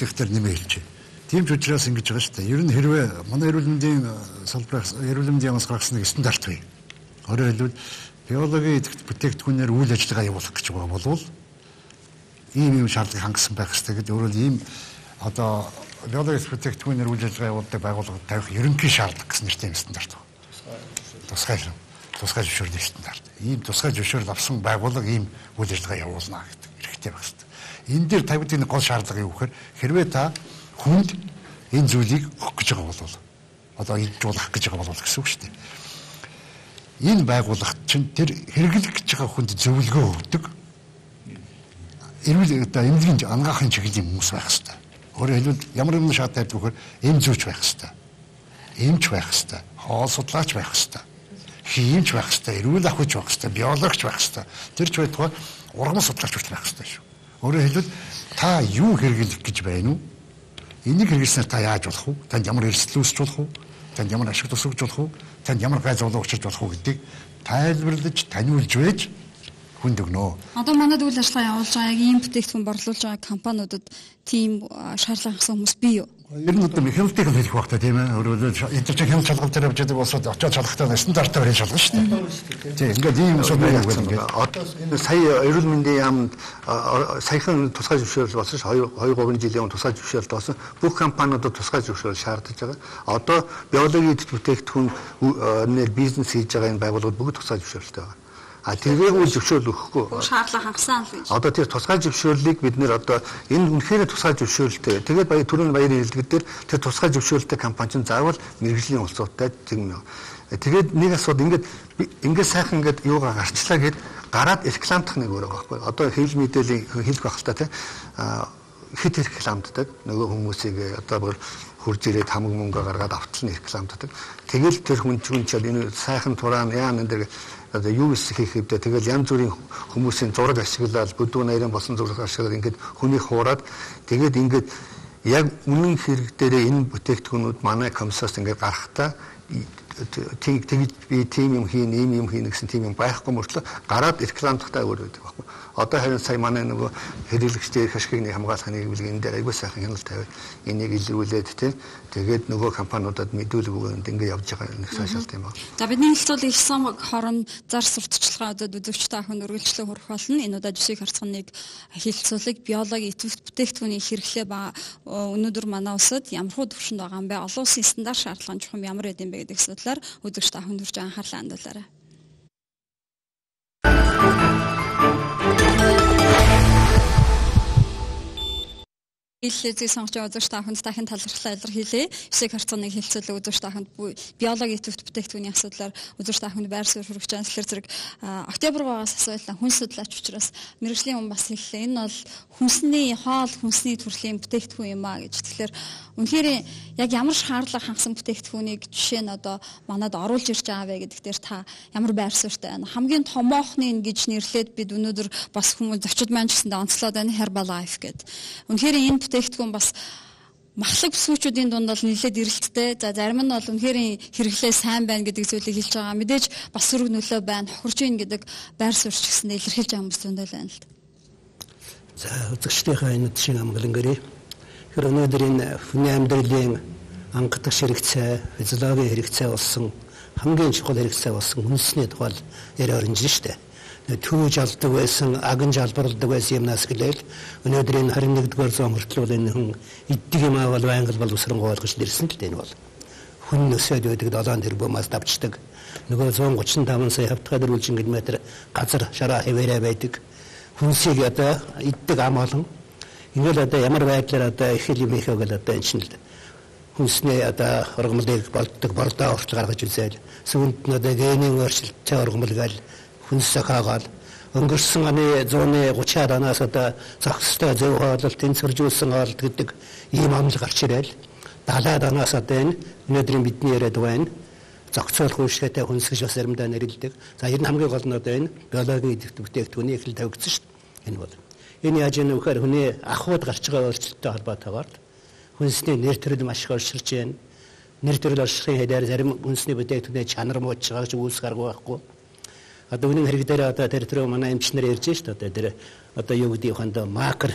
зөвхөн нэмээ хэлж. Тийм ч учраас ингэж байгаа шүү дээ. Ер нь хэрвээ манай эрүүл мэндийн салбараас эрүүл мэндийн ямаас гаргасан нэг стандарт бий. Өөрөөр хэлбэл биологийн бүтээгдэхүүнээр үйл ажиллагаа явуулах гэж байгаа болвол ийм юм шаардлага хангасан байх хэрэгтэй гэдэг. Өөрөөр ийм одоо биологийн бүтээгдэхүүнээр үйл ажиллагаа явуулдаг байгууллагад тавих ерөнхий шаардлага гэсэн нэртэй стандарт байна. Тусгай тусгай зөвшөөрлөг стандарт. Ийм тусгай зөвшөөрөл авсан байгууллага ийм үйл ажиллагаа явуулна гэдэг хэрэгтэй байх хэрэгтэй. Энэ дээр тавьдаг нэг гол шаардлага юу гэхээр хэрвээ та хүнд энэ зүйлийг өгөх гэж байгаа бол одоо илжүүлэх гэж байгаа бол гэсэн үг шүү дээ. Энэ байгууллагт чинь тэр хэрэглэх гэж байгаа хүнд зөвлөгөө өгдөг эрүүл одоо эмнэлгийн ангаахын чиглэлийн хүмүүс байх хэрэгтэй. Өөрөөр хэлбэл ямар нэгэн шат тавьдаг вөхөр эм зүүч байх хэрэгтэй. Эмч байх хэрэгтэй. Хоол судлаач байх хэрэгтэй. Хиймч байх хэрэгтэй. Эрүүл ахуйч байх хэрэгтэй. Биологч байх хэрэгтэй. Тэр ч байтугай ургамал судлаач байх хэрэгтэй шүү. Өөрөөр хэлбэл та юу хэрэглэх гэж байна уу? Энийг хэрэглэснээр та яаж болох вэ? Танд ямар эрсдэл үүсч болох вэ? Танд ямар ашиг тусагч болох вэ? Танд ямар гай зовлон учрж болох вэ гэдгийг тайлбарлаж, таниулж байж хүнд өгнө. Одоо манайд үйл ажиллагаа явуулж байгаа яг ийм бүтээгдэхүүн борлуулж байгаа компаниудад тийм шаардлага хангасан хүмүүс бий юу? Ер нь одоо механикийг хэлэх багтаа тийм ээ. Өөрөөр хэлбэл хяналт шалгалт дээр явж байгаа болсод очоод шалгахтаа стандартаар хэл шалгана шүү дээ. Тийм ингээд ийм асуудал байдаг гэдэг. Одоо энэ сая эрүүл мэндийн яамд саяхан тусгай зөвшөөрөл болсон ш хоёр гурван жилийн тусгай зөвшөөрөл болсон. Бүх компаниудад тусгай зөвшөөрөл шаардаж байгаа. Одоо биологийн бүтээгдэхүүн нэр бизнес хийж байгаа энэ байгууллагууд бүгд тусгай зөвшөөрөлтэй байгаа. А тэрийг үл зөвшөөрөл өгөхгүй. Шаардлага хангасан л гэж. Одоо тэр тусгай зөвшөөрлийг бид нэр одоо энэ үнэхээр тусгай зөвшөөрөлтэй. Тэгээд баяр түрүүний баярын хэлдэгдээр тэр тусгай зөвшөөрөлтэй компани чинь заавал мэрэгжлийн улсуудтай тийм Тэгээд нэг асуудал ингээд ингээд сайхан ингээд юугаа гарчлаа гэд гараад рекламдах нэг өөрөө байхгүй. Одоо хэл мэдээллийн хэлэх байх л та тийм хит рекламддаг нөгөө хүмүүсийг одоо бүр хурж ирээд хамаг мөнгө гаргаад авталны рекламддаг. Тэгэл тэр хүн чинь ч энэ сайхан тураан яан энэ одоо юу хийх хэвдэ тэгэл янз бүрийн хүмүүсийн зураг ашиглаад бүдүүн нарийн болсон зураг ашиглаад ингээд хүнийг хуураад тэгээд ингээд яг үнэн хэрэг дээр энэ бүтээгдэхүүнүүд манай комиссоос ингээд гарахтаа тэг тэгж би тим юм хийн, ийм юм хийн гэсэн тим юм байхгүй мөртлөө гараад рекламдахтаа өөр байдаг байхгүй. Одоо харин сая манай нөгөө хэрэглэгчдийн ашигны хамгаалах нийгмийн энэ дээр айгүй сайхан хяналт тавиад энийг илрүүлээд тийм тэгээд нөгөө компаниудад мэдүүлэг өгөөнд ингээд явж байгаа нэг сайшаалт юм байна. За бидний хэлцүүлэг сан хорон зар сурталчилгаадад үзэгчтэй ахын үргэлжлэн хүрэх болно. Энэ удаа жишээ харцганыг хэлцүүлэг биологи идэвхтэй бүтээгдэхүүний хэрэглээ ба өнөөдөр манай улсад ямархуу төвшөнд байгаа юм бэ? Олон улсын стандарт шаардлага чухам ямар байд юм бэ гэдэг асуудлаар үзэгчтэй ахын төрж анхаарлаа хандуулаарай. Илэлцгийг сонгож байгаа үзэгч тааханд дахин талархлаа илэрхийлье. Жишээ харцганыг хэлцүүлэг үзэгч тааханд биологи идэвхтэй бүтээгдэхүүний асуудлаар үзэгч тааханд байр суурь хүргэж байгаа. Тэгэхээр зэрэг октябргоос асуулаа хүн судлаач учраас мэргэжлийн хүн бас хэллээ. Энэ бол хүнсний хоол, хүнсний төрлийн бүтээгдэхүүн юм а гэж. Тэгэхээр үнэхээр яг ямар шаардлага хангасан бүтээгдэхүүнийг жишээ нь одоо манад оруулж ирж байгаа вэ гэдэг дээр та ямар байр суурьтай байна? Хамгийн томоохны гэж нэрлээд бид өнөөдөр бас хүмүүс зочид маань ч гэсэндээ онцлоод байна Herbalife гэдэг. Үнэхээр энэ бүтээгдэхүүн бас махлаг бүсгүүчүүдийн дунд бол нэлээд эрэлттэй. За зарим нь бол үнэхээр хэрэглээ сайн байна гэдэг зүйлийг хэлж байгаа. Мэдээж бас сөрөг нөлөө байна, хохирж ийн гэдэг байр суурьч гэсэндээ илэрхийлж байгаа хүмүүс зөндөл байна л да. За үзэгчдийнхээ энэ шиг амгалан гэрээ. Тэгэхээр өнөөдөр энэ хүний амьдралын ангадаг хэрэгцээ, физиологийн хэрэгцээ болсон хамгийн чухал хэрэгцээ болсон хүнсний тухай яриа орж штэ. Төвж алдаг байсан, аган жалбарладаг байсан юмнаас гэлээл өнөөдөр энэ харин нэгдүгээр зуун хүртэл энэ хүн иддэг юм аа бол байнгал боловсронгуй болгож ирсэн л дээ энэ бол. Хүн нөсөөд байдаг долоон тэрбумаас давчдаг. Нөгөө one thirty-five сая хавтгай дөрвөлжин километр газар шараа хэвээрээ байдаг. Хүнсийг одоо иддэг ам олон. Ингээл одоо ямар байдлаар одоо их юм хийх вэ одоо энэ чинь л хүнсний одоо ургамлыг болдог бордоо орч гаргаж үзээл. Сүүнд нь одоо генийн өөрчлөлттэй ургамл гээл хүнсээ хаагаад өнгөрсөн оны one thirty оноос одоо зохистой зөв хооллолт тэнцвэржүүлсэн хоолт гэдэг ийм амл гарч ирэл seventy оноос одоо энэ өнөөдрийн бидний яриад байна зохицуулах үйлчлэгээтэй хүнс гэж бас заримдаа нэрлэдэг. За ер нь хамгийн гол нь одоо энэ биологийн идэвхтэй бүтээгдэхүүний эхлэл тавигдсан шүү дээ. Энэ бол энэ яаж ийм вэхээр хүний ахуйд гарч байгаа өөрчлөлттэй холбоотойгоор хүнсний нэр төрөл маш их өөрчилж байна. Нэр төрөл оршихын хэдээр зарим хүнсний бүтээгдэхүүний чанар мууж байгаа гэж үүсэх арга байхгүй. Одоо үнэн хэрэг дээр одоо тэр тэр манай эмчнэр ярьж шүү дээ. Тэр одоо юу гэдэг юм хандаа макро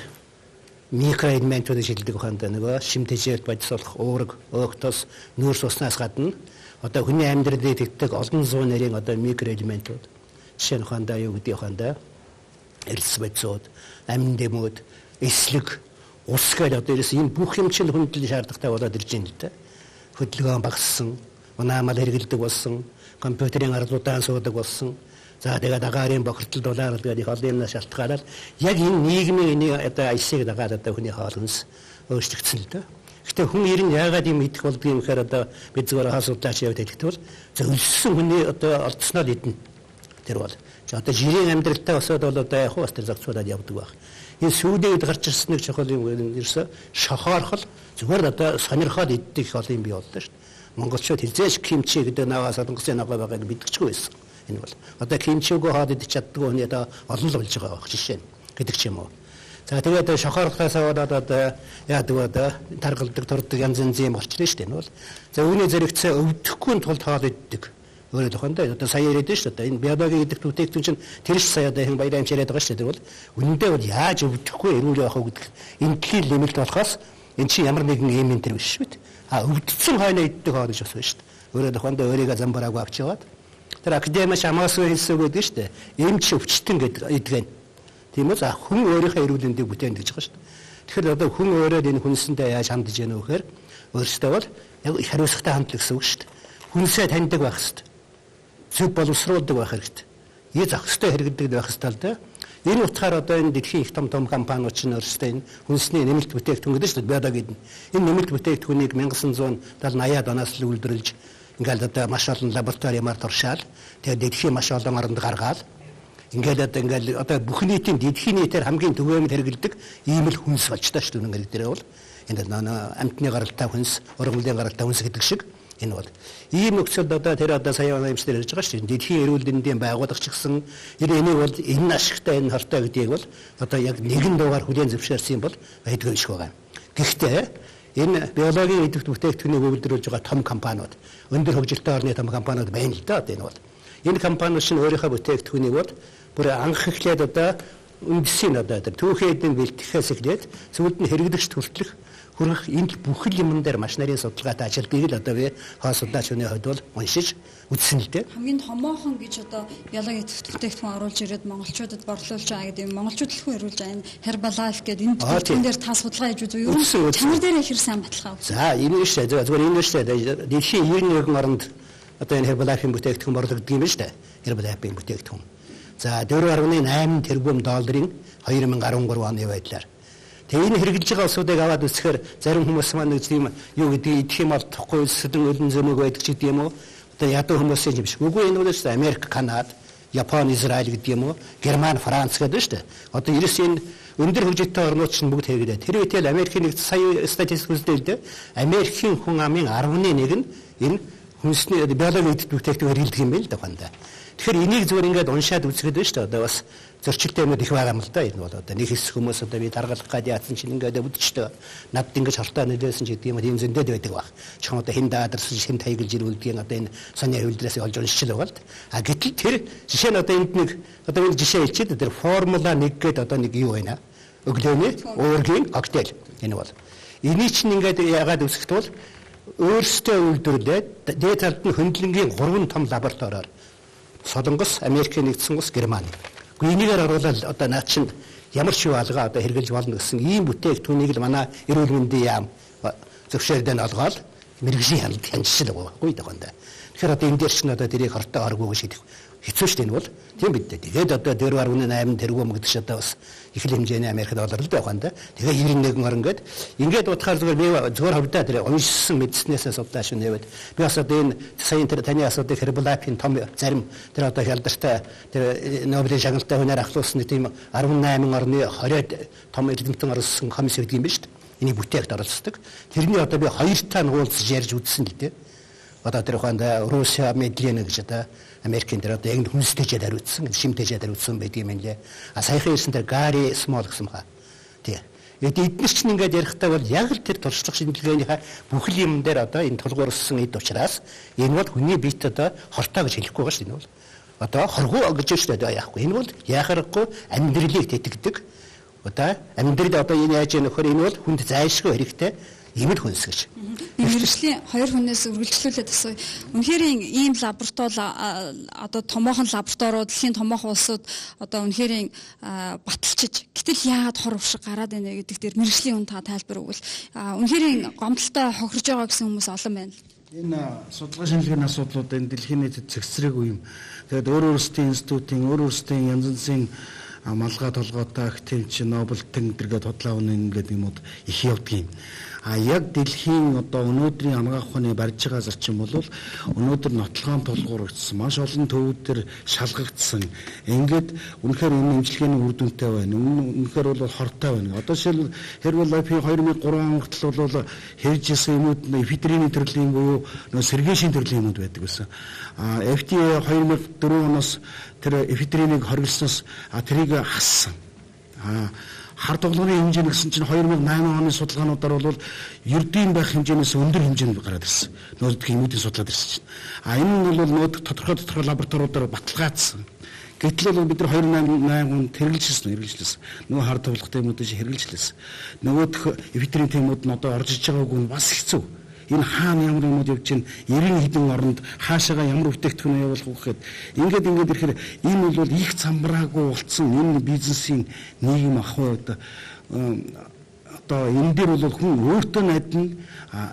микроэлементүүд шилдэг хандаа нөгөө шимтгийд бодисолох уураг, өөгтөс, нүүрс уснаас гадна одоо хүний амьдралд идэвхтэй олон зуун нэрийн одоо микроэлементүүд жишээ нь хандаа юу гэдэг хандаа эрс бодисууд, амин дэмүүд, эслэг, ус гэдэг одоо ерөөс энэ бүх юм чинь хүндлэн шаардлагатай болоод ирж байна л да. Хөдөлгөөн багассан, унаамал хэрэгэлдэг болсон, компьютерийн арлуудаа суудаг болсон. За тэгээд агаарын бохирдол дулаар гэдэг их олон юмнаас шалтгаалаад яг энэ нийгмийн энэ одоо айсыг дагаад одоо хүний хоол хүнс өөрчлөгдсөн л да. Гэхдээ хүн ер нь яагаад юм идэх болдгийг юм гэхээр одоо бид зүгээр хаал судлаач яваад хэлэхдээ зөвлөсөн хүний одоо олдсноо идэнэ. Тэр бол одоо жирийн амьдралтай босоод бол одоо яг бас тэр зохицуулаад явдаг байх. Энэ сүүдэд гарч ирсэн нэг чухал юм ерөөсө шохоорхол зүгээр одоо сонирхоод иддэг их олон юм бий боллоо шүү дээ. Монголчууд хизээш кимчи гэдэг наваас солонгосын наваа байгааг мэдчихгүй байсан. Энэ бол одоо кимчиг хаад идэж чаддгүй хүний одоо олон л болж байгаа байх жишээ нь гэдэг ч юм уу. За тэгээд шохоорхлоос аваад одоо яадаг одоо таргалдаг турдаг янз янзын юм болчихлоо шүү дээ. Энэ бол за үүний зэрэгцээ өвдөхгүй тулд хоол иддэг. Өөрөө тохиолдоо одоо сая яриад шүү дээ. Энэ биологийн идэвхтэй бүтээгдэхүүн чинь тэр ч сая одоо хэн баярын яриад байгаа шүү дээ. Тэр бол үнэндээ бол яаж өвдөхгүй эрүүл явах вэ гэдэг энэ дэлхийн нэмэлт болохоос эн чинь ямар нэгэн юм энэ төр биш үү? А өвдсөн хойно иддэг хоол гэж бас байна шүү дээ. Өөрөө тохиолдоо өөрийгөө замбараагүй авч яваад тэр академич амаасгүй хэлсэн үг гэдэг шүү дээ. Эмч өвчтөн гэдэг эдгэн. Тийм үү? За хүн өөрийнхөө эрүүл мэндийг бүтээн гэж байгаа шүү дээ. Тэгэхээр одоо хүн өөрөө энэ хүнсэндээ яаж хандж яах вэ гэхээр өөрөөсөө бол яг их хариуцлагатай хандлага гэсэн үг шүү дээ. Хүнсээ таньдаг байх хэрэгтэй. Зөв боловсруулдаг байх хэрэгтэй. Ийм зохистой хэрэгэлдэг байх хэрэгтэй л дээ. Энэ утгаар одоо энэ дэлхийн их том том компаниуд чинь өөрсдөө энэ хүнсний нэмэлт бүтээгдэхүүн гэдэг шүү дээ. Биологид энэ нэмэлт бүтээгдэхүүнийг nineteen seventy-eight оноос л үйлдвэрлэж ингээл одоо маш олон лабораториумаар туршаал тэгээд дэлхийн маш олон оронд гаргаал ингээл одоо ингээл одоо бүх нийтийн дэлхийн нийтээр хамгийн түгээмэл хэрэгэлдэг ийм л хүнс болж таа шүү дээ дээрээ бол энэ амтны гаралтай хүнс, ургамлын гаралтай хүнс гэдэг шиг энэ бол ийм нөхцөлд одоо тэр одоо сая юмсдэр ярьж байгаа шүү дээ дэлхийн эрүүл мэндийн байгууллага ч гэсэн энийг бол энэ ашигтай энэ хортой гэдгийг бол одоо яг нэгэн дуугаар хүлээн зөвшөөрсөн бол байдгүй шиг байгаа. Гэхдээ энэ биологийн идэвхтэй бүтээгдэхүүнийг үйлдвэрлэж байгаа том компаниуд өндөр хөгжилтэй орны том компаниуд байна л да одоо энэ бол энэ компаниуд шин өөрийнхөө бүтээгдэхүүнийг бол бүр анх эхлээд одоо үндэсийн одоо тэр түүхийдэн бэлтгэхээс эхлээд зөвлөд нь хэрэглэгч хүртэлх хүрэх энэ бүхэл юмн дээр маш нарийн судалгаатай ажилтгийг л одоо би хаа судлаач хүний хувьд бол уншиж үзсэн л дээ. Хамгийн томоохон гэж одоо биологийн бүтээгдэхүүн оруулж ирээд монголчуудад борлуулж байгаа гэдэг юм. Монголчууд л хүн ирүүлж байгаа энэ Herbalife гэдэг энэ бүтээгдэхүүн дээр та судалгаа хийж үзв юу? Чанар дээр ихэр сайн баталгаа үзв. За энэ нь шүү дээ. Зүгээр энэ нь шүү дээ. Дэлхийн ерөнхий нэгэн оронд одоо энэ Herbalife-ийн бүтээгдэхүүн борлогддог юм шүү дээ. Herbalife-ийн бүтээгдэхүүн. За four point eight тэрбум долларын two thousand thirteen оны байдлаар. Тэгээ энэ хэрэгжилж байгаа улсуудыг аваад үзэхээр зарим хүмүүс маань тийм юу гэдэг идэх юм бол тохгүй сэдэн өлөн зөмөг байдаг ч гэдэг юм уу. Одоо ядуу хүмүүсийн юм шиг. Үгүй энэ бол шүү дээ Америк, Канада, Япон, Израиль гэдэг юм уу, Герман, Франц гэдэг шүү дээ. Одоо ерөөс энэ өндөр хөгжилтэй орнууд чинь бүгд хэрэглэдэг. Тэр үедээ Америкийн нэг сая статистик үзлээ. Америкийн хүн амын ten нэг нь энэ хүнсний биологийн бүтээгдэхүүн хэрэглэдэг юм байл да хандаа. Тэгэхээр энийг зүгээр ингээд уншаад үзэхэд байна шүү дээ. Одоо бас зөрчилтэй юмуд их байгаа юм л да. Энэ бол одоо нэг хэсэг хүмүүс одоо би даргалах гад яатсан чинь ингээд өвдөжтэй. Надд ингэж хортой нөлөөсөн ч гэдэг юм ийм зөндөөд байдаг баг. Чихэн одоо хэн даадарсан хэн тайгалж ирүүлдэг одоо энэ сони хөвлдрээс олж уншчихл байгаа л. А гэтэл тэр жишээ нь одоо энд нэг одоо энэ жишээ хэлчихэд тэр формула one гэдэг одоо нэг юу байна. Өглөөний уургийн коктейл энэ бол. Энийг чинь ингээд яагаад үсгэх бол өөрсдөө үйлдвэрлээд дээд талд нь хөндлөнгийн гурван том лабораториор Солонгос, Америкийн нэгдсэн улс, Герман. Гэхдээ энийгээр оруулаад одоо наад чинь ямар ч юу алгаа одоо хэрэгжилж болно гэсэн ийм бүтээгдэхүүнийг л манай эрүүл мэндийн яам зөвшөөрдөн олгоод мэрэгжлийн хяналт хянжил байгаагүй даганда. Тэгэхээр одоо энэ дээр чинь одоо тэрийг хортой оргоо гэж хэлэх хэцүү шүү дээ энэ бол. Тийм бид дээ. Тэгээд одоо four point eight тэрбум гэдэг ч одоо бас их л хэмжээний Америк доллар л байгаанда. Тэгээ ninety-one орн гээд ингээд утгаар зүгээр би зүгээр хавдаа тэр уншсан мэдснээсээ судлаач нэвэд би бас одоо энэ саяын тэр таны асуудыг Herbalife-ийн том зарим тэр одоо хялдартай тэр Нобелийн шагналтай хүнээр ахлуулсан тийм eighty-eight орны twenty том эрдэмтэн оролцсон комисс гэдэг юм ба шүү дээ. Энийг бүтээгт оролцдог. Тэрний одоо би хоёр таа нуулзж ярьж үзсэн л дээ. Одоо тэр хоанда Руссия медиа гэж одоо Америкийн дээр одоо яг хүнстэйчээд хариуцсан, шимтэйчээд хариуцсан байдаг юм лээ. А саяхан ирсэн тэр Гари Смол гэсэн хаа. Тий. Эдгээр чинь ингээд ярихдаа бол яг л тэр туршлага шинжилгээнийхээ бүхэл юм дээр одоо энэ тулгуурсан эд учраас энэ бол хүний биет одоо хортой гэж хэлэхгүй байгаа шүү дээ энэ бол. Одоо хоргоо гэж шүү дээ яахгүй. Энэ бол яхахгүй амьдралыг тэтгдэг. Одоо амьдрал одоо энэ яаж нөхөр энэ бол хүнд зайлшгүй хэрэгтэй имэл хүнс гэж. Мэргэжлийн хоёр хүнээс үргэлжлүүлээд асууя. Үнэхээр ийм лаборатори одоо томоохон лабораториуд дэлхийн томоохон улсууд одоо үнэхээр баталчиж гэтэл яагаад хор уршиг гараад байна гэдэг дээр мэргэжлийн хүн та тайлбар өгвөл үнэхээр гомдолтой хохирж байгаа гэсэн хүмүүс олон байна. Энэ судалгаа шинжилгээний асуудлууд энэ дэлхийн нийтэд цэгцрээгүй юм. Тэгээд өөр өөрсдийн институтын өөр өөрсдийн янз бүрийн малгай толгойтой активч Нобель тэнгэдэргээд худлаа үнэн гэдэг юмуд их явдгийн. А яг дэлхийн одоо өнөөдрийн анагаах ухааны барьж байгаа зарчим бол өнөөдөр нотлохоон тулгуурагдсан маш олон төвүүдээр шалгагдсан. Ингээд үнэхээр энэ имчилгээний үр дүнтэй байна. Үнэхээр бол хортой байна. Одоо жишээл Herbalife-ийн two thousand three он хүртэл бол хэрж исэн юмуд эфедрины төрлийн буюу нөө сэргээшийн төрлийн юмуд байдаг гэсэн. А эф ди эй two thousand four оноос тэр эфедринийг хоригдсноос тэрийг хассан. А хар тоглоомын хэмжээ гэсэн чинь two thousand nine оны судалгаануудаар бол ердийн байх хэмжээнээс өндөр хэмжээнд гараад ирсэн. Нөөдг юмуудын судлаад ирсэн чинь. А энэ нь бол нөөд тодорхой тодорхой лабораториудаар баталгаажсан. Гэтэл бол бид нар two thousand nine онд хэрэгжилсэн, хэрэгжилсэн. Нөгөө хар тоглохтой юмудыг хэрэгжилсэн. Нөгөөх эфедрин темүүд нь одоо орж иж байгаагүй нь бас хэцүү. Энэ хаана ямар юмуд явж чинь ninety хэдэн оронд хаашаага ямар бүтээгдэхүүн явуулах вэ гэхэд ингээд ингээд ирэхээр энэ бол их замбраагүй болцсон энэ бизнесийн нийгэм ахуй одоо одоо энэ дээр бол хүн өөртөө найдна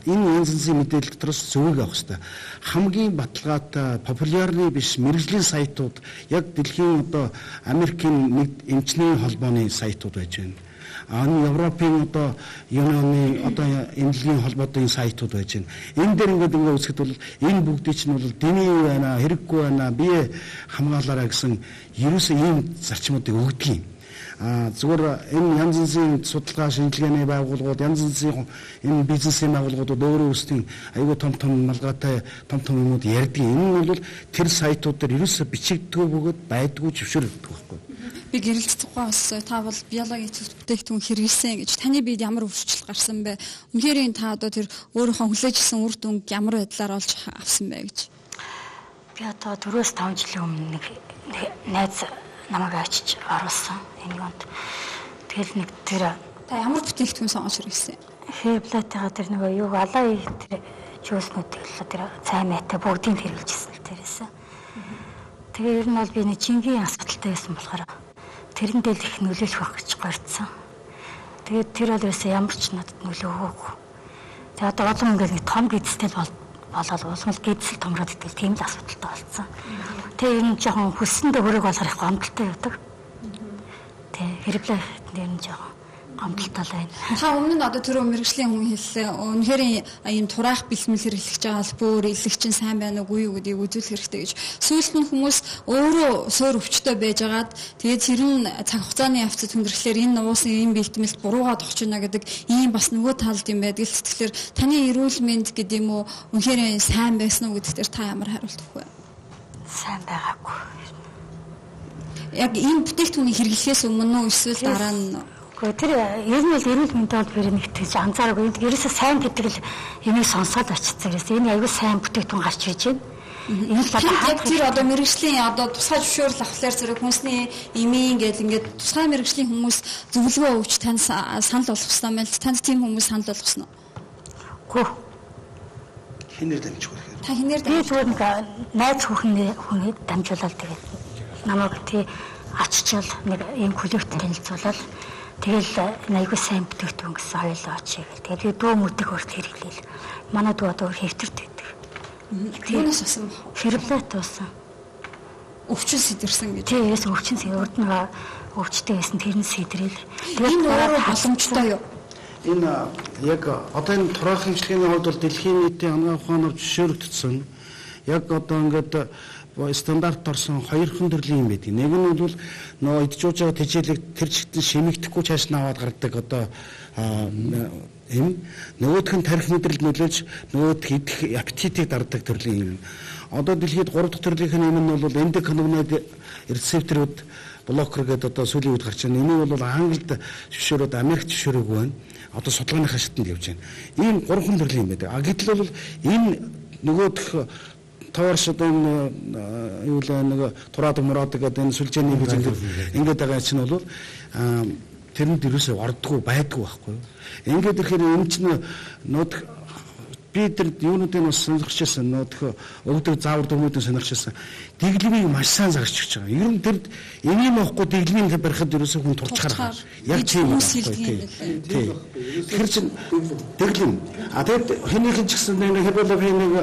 энэ янз бүрийн мэдээлэл дотроос зөвөг авах хэрэгтэй. Хамгийн баталгаатай популярны биш мэрэгжлийн сайтууд яг дэлхийн одоо Америкийн нэг эмчний холбооны сайтууд байж байна. А энэ Европын одоо Юнаны одоо эмнэлгийн холбоотой сайтууд байж байна. Энэ дээр ингээд ингээд үзэхэд бол энэ бүгдийг чинь бол дэмий байна, хэрэггүй байна, бие хамгаалаарай гэсэн ерөөсөө ийм зарчмуудыг өгдөг юм. А зүгээр энэ янз бүрийн судалгаа шинжилгээний байгууллагууд, янз бүрийн энэ бизнесийн байгууллагууд өөрөө өөрсдийн аюул том том малгайтай том том юмуд ярьдаг. Энэ нь бол тэр сайтууд дээр ерөөсөө бичигддэг бөгөөд байдгүй зөвшөөрөгдөг байхгүй. Би гэрэлт тухай бас та бол биологийн бүтээгдэхүүн хэрэглэсэн гэж таны биед ямар өвчлөл гарсан бэ? Үнэхээр та одоо тэр өөрийнхөө хүлээжсэн үр дүнг ямар байдлаар олж авсан бэ гэж. Би одоо дөрвөөс таван жилийн өмнө нэг найз намайг очиж оруулсан энэ юунд. Тэгэл нэг тэр та ямар бүтээгдэхүүн сонгож хэрэглэсэн? Феблатыгаа тэр нөгөө юу алаа тэр жүүснүүд л тэр цай мэтэй бүгдийг хэрэгжилсэн л тэрээсээ. Тэгээ ер нь бол би нэг жингийн асуудалтай байсан болохоор тэрэндээ л их нөлөөлөх байх гэж горьцсон. Тэгээд тэр бол ерөөсөө ямар ч надад нөлөө өгөөгүй. Тэгээ одоо олон ингээд нэг том гидстэл бол болоод уусмал гидсэл томроод итэл тийм л асуудалтай болсон. Тэгээ ер нь жоохон хүссэндээ хөрөг болохоор их гомдолтой явдаг. Тэгээ хэрэглээ ер нь жоохон гомдолтой л байна. Та өмнө нь одоо тэр мэрэгжлийн хүн хэллээ. Үнэхээр ийм тураах бэлтгэл хэрэглэж байгаа бол бүр илэг чинь сайн байна уу юу гэдгийг үзүүлэх хэрэгтэй гэж. Сүүлд нь хүмүүс өөрөө суур өвчтөй байжгаад тэгээд тэр нь цаг хугацааны явцад хүндрэхлээр энэ уусын ийм бэлтгэлд буруугаад огч байна гэдэг ийм бас нөгөө талд юм байдаг л тэгэхээр таны эрүүл мэнд гэдэг юм уу үнэхээр сайн байсан уу гэдэгтэр та ямар хариулт өгөх вэ? Сайн байгаагүй. Яг энэ бүтээгдэхүүнийг хэрэглэхээс өмнө үү эсвэл дараа нь тэр ер нь л эрүүл мэндийн холбоор нэг тэгж анзаараагүй. Ерөөсөө сайн гэдэг л юмыг сонсоод очицсан. Энэ аюул сайн бүтээгдэхүүн гарч ирж байна. Энэ л яг тэр одоо мэрэгжлийн одоо тусгай зөвшөөрөл авахлаар зэрэг хүнсний эмийн гэл ингээд тусгай мэрэгжлийн хүмүүс зөвлөгөө өгч тань санал болгосноо мэл танд тийм хүмүүс санал болгосноо. Гүү. Хинээр дамжих вэ? Та хинээр дамжих? Би зүгээр нэг найз хүүхэн хүнийг дамжуулаад тэгээд намайг тий аччаал нэг ийм коллект танилцуулаад тэгэл аягүй сайн бүтээгдэхүүн гэсэн хоёулаа очие гэл. Тэгээд дүү мөдөг өрт хэрэглээл. Манай дүү одоо хэвтэрт байдаг. Юунаас асан бэ? Ферблат уусан. Өвчин сэтэрсэн гэж. Тийм, яс өвчин сэтэр урд нь өвчтэй байсан тэр нь сэтрээл. Энэ өөрөө боломжтой юу? Энэ яг одоо энэ тураах хэмжлэгийн хувьд бол дэлхийн нийтийн ангаа ухаанаар зөвшөөрөгдсөн. Яг одоо ингээд стандарт орсон хоёрхан төрлийн юм байдаг. Нэг нь бол нөө идчихж байгаа тэжээлэг тэр чигтэн шимэгдэхгүй цааш нь аваад гардаг одоо юм. Нөгөөх нь тарих мэдрэл нөлөөлж нөгөөх идэх аппетитийг дардаг төрлийн юм. Одоо дэлхийд гурав дахь төрлийн юм нь бол эндоканабиноид рецепторууд блокер гэдэг одоо сүүлийн үед гарч байна. Энийг бол Англид зөвшөөрөөд Америкт зөвшөөрөөгүй байна. Одоо судалгааныхаа шатанд явж байна. Ийм гурван төрлийн юм байдаг. А гэтэл бол энэ нөгөөх товарш одоо энэ юу л нэг тураад мураад гэдэг энэ сүлжээний гэж ингээд байгаа чинь бол тэрэнд ерөөсөө ордгоо байдгүй байхгүй. Ингээд ирэхээр энэ чинь нөт би тэр юунуудыг бас сонирхчихсан нөт өвдөг заавар дөрмүүдийг сонирхчихсан. Дэглэмийг маш сайн зарч өгч байгаа. Ер нь тэр энийг мохгүй дэглэмийг барихад ерөөсөө хүн турчхаар яг тийм байхгүй тийм. Тэр чинь дэглэм. А тэгэд хэнийхэн ч гэсэн нэг хебологийн нэг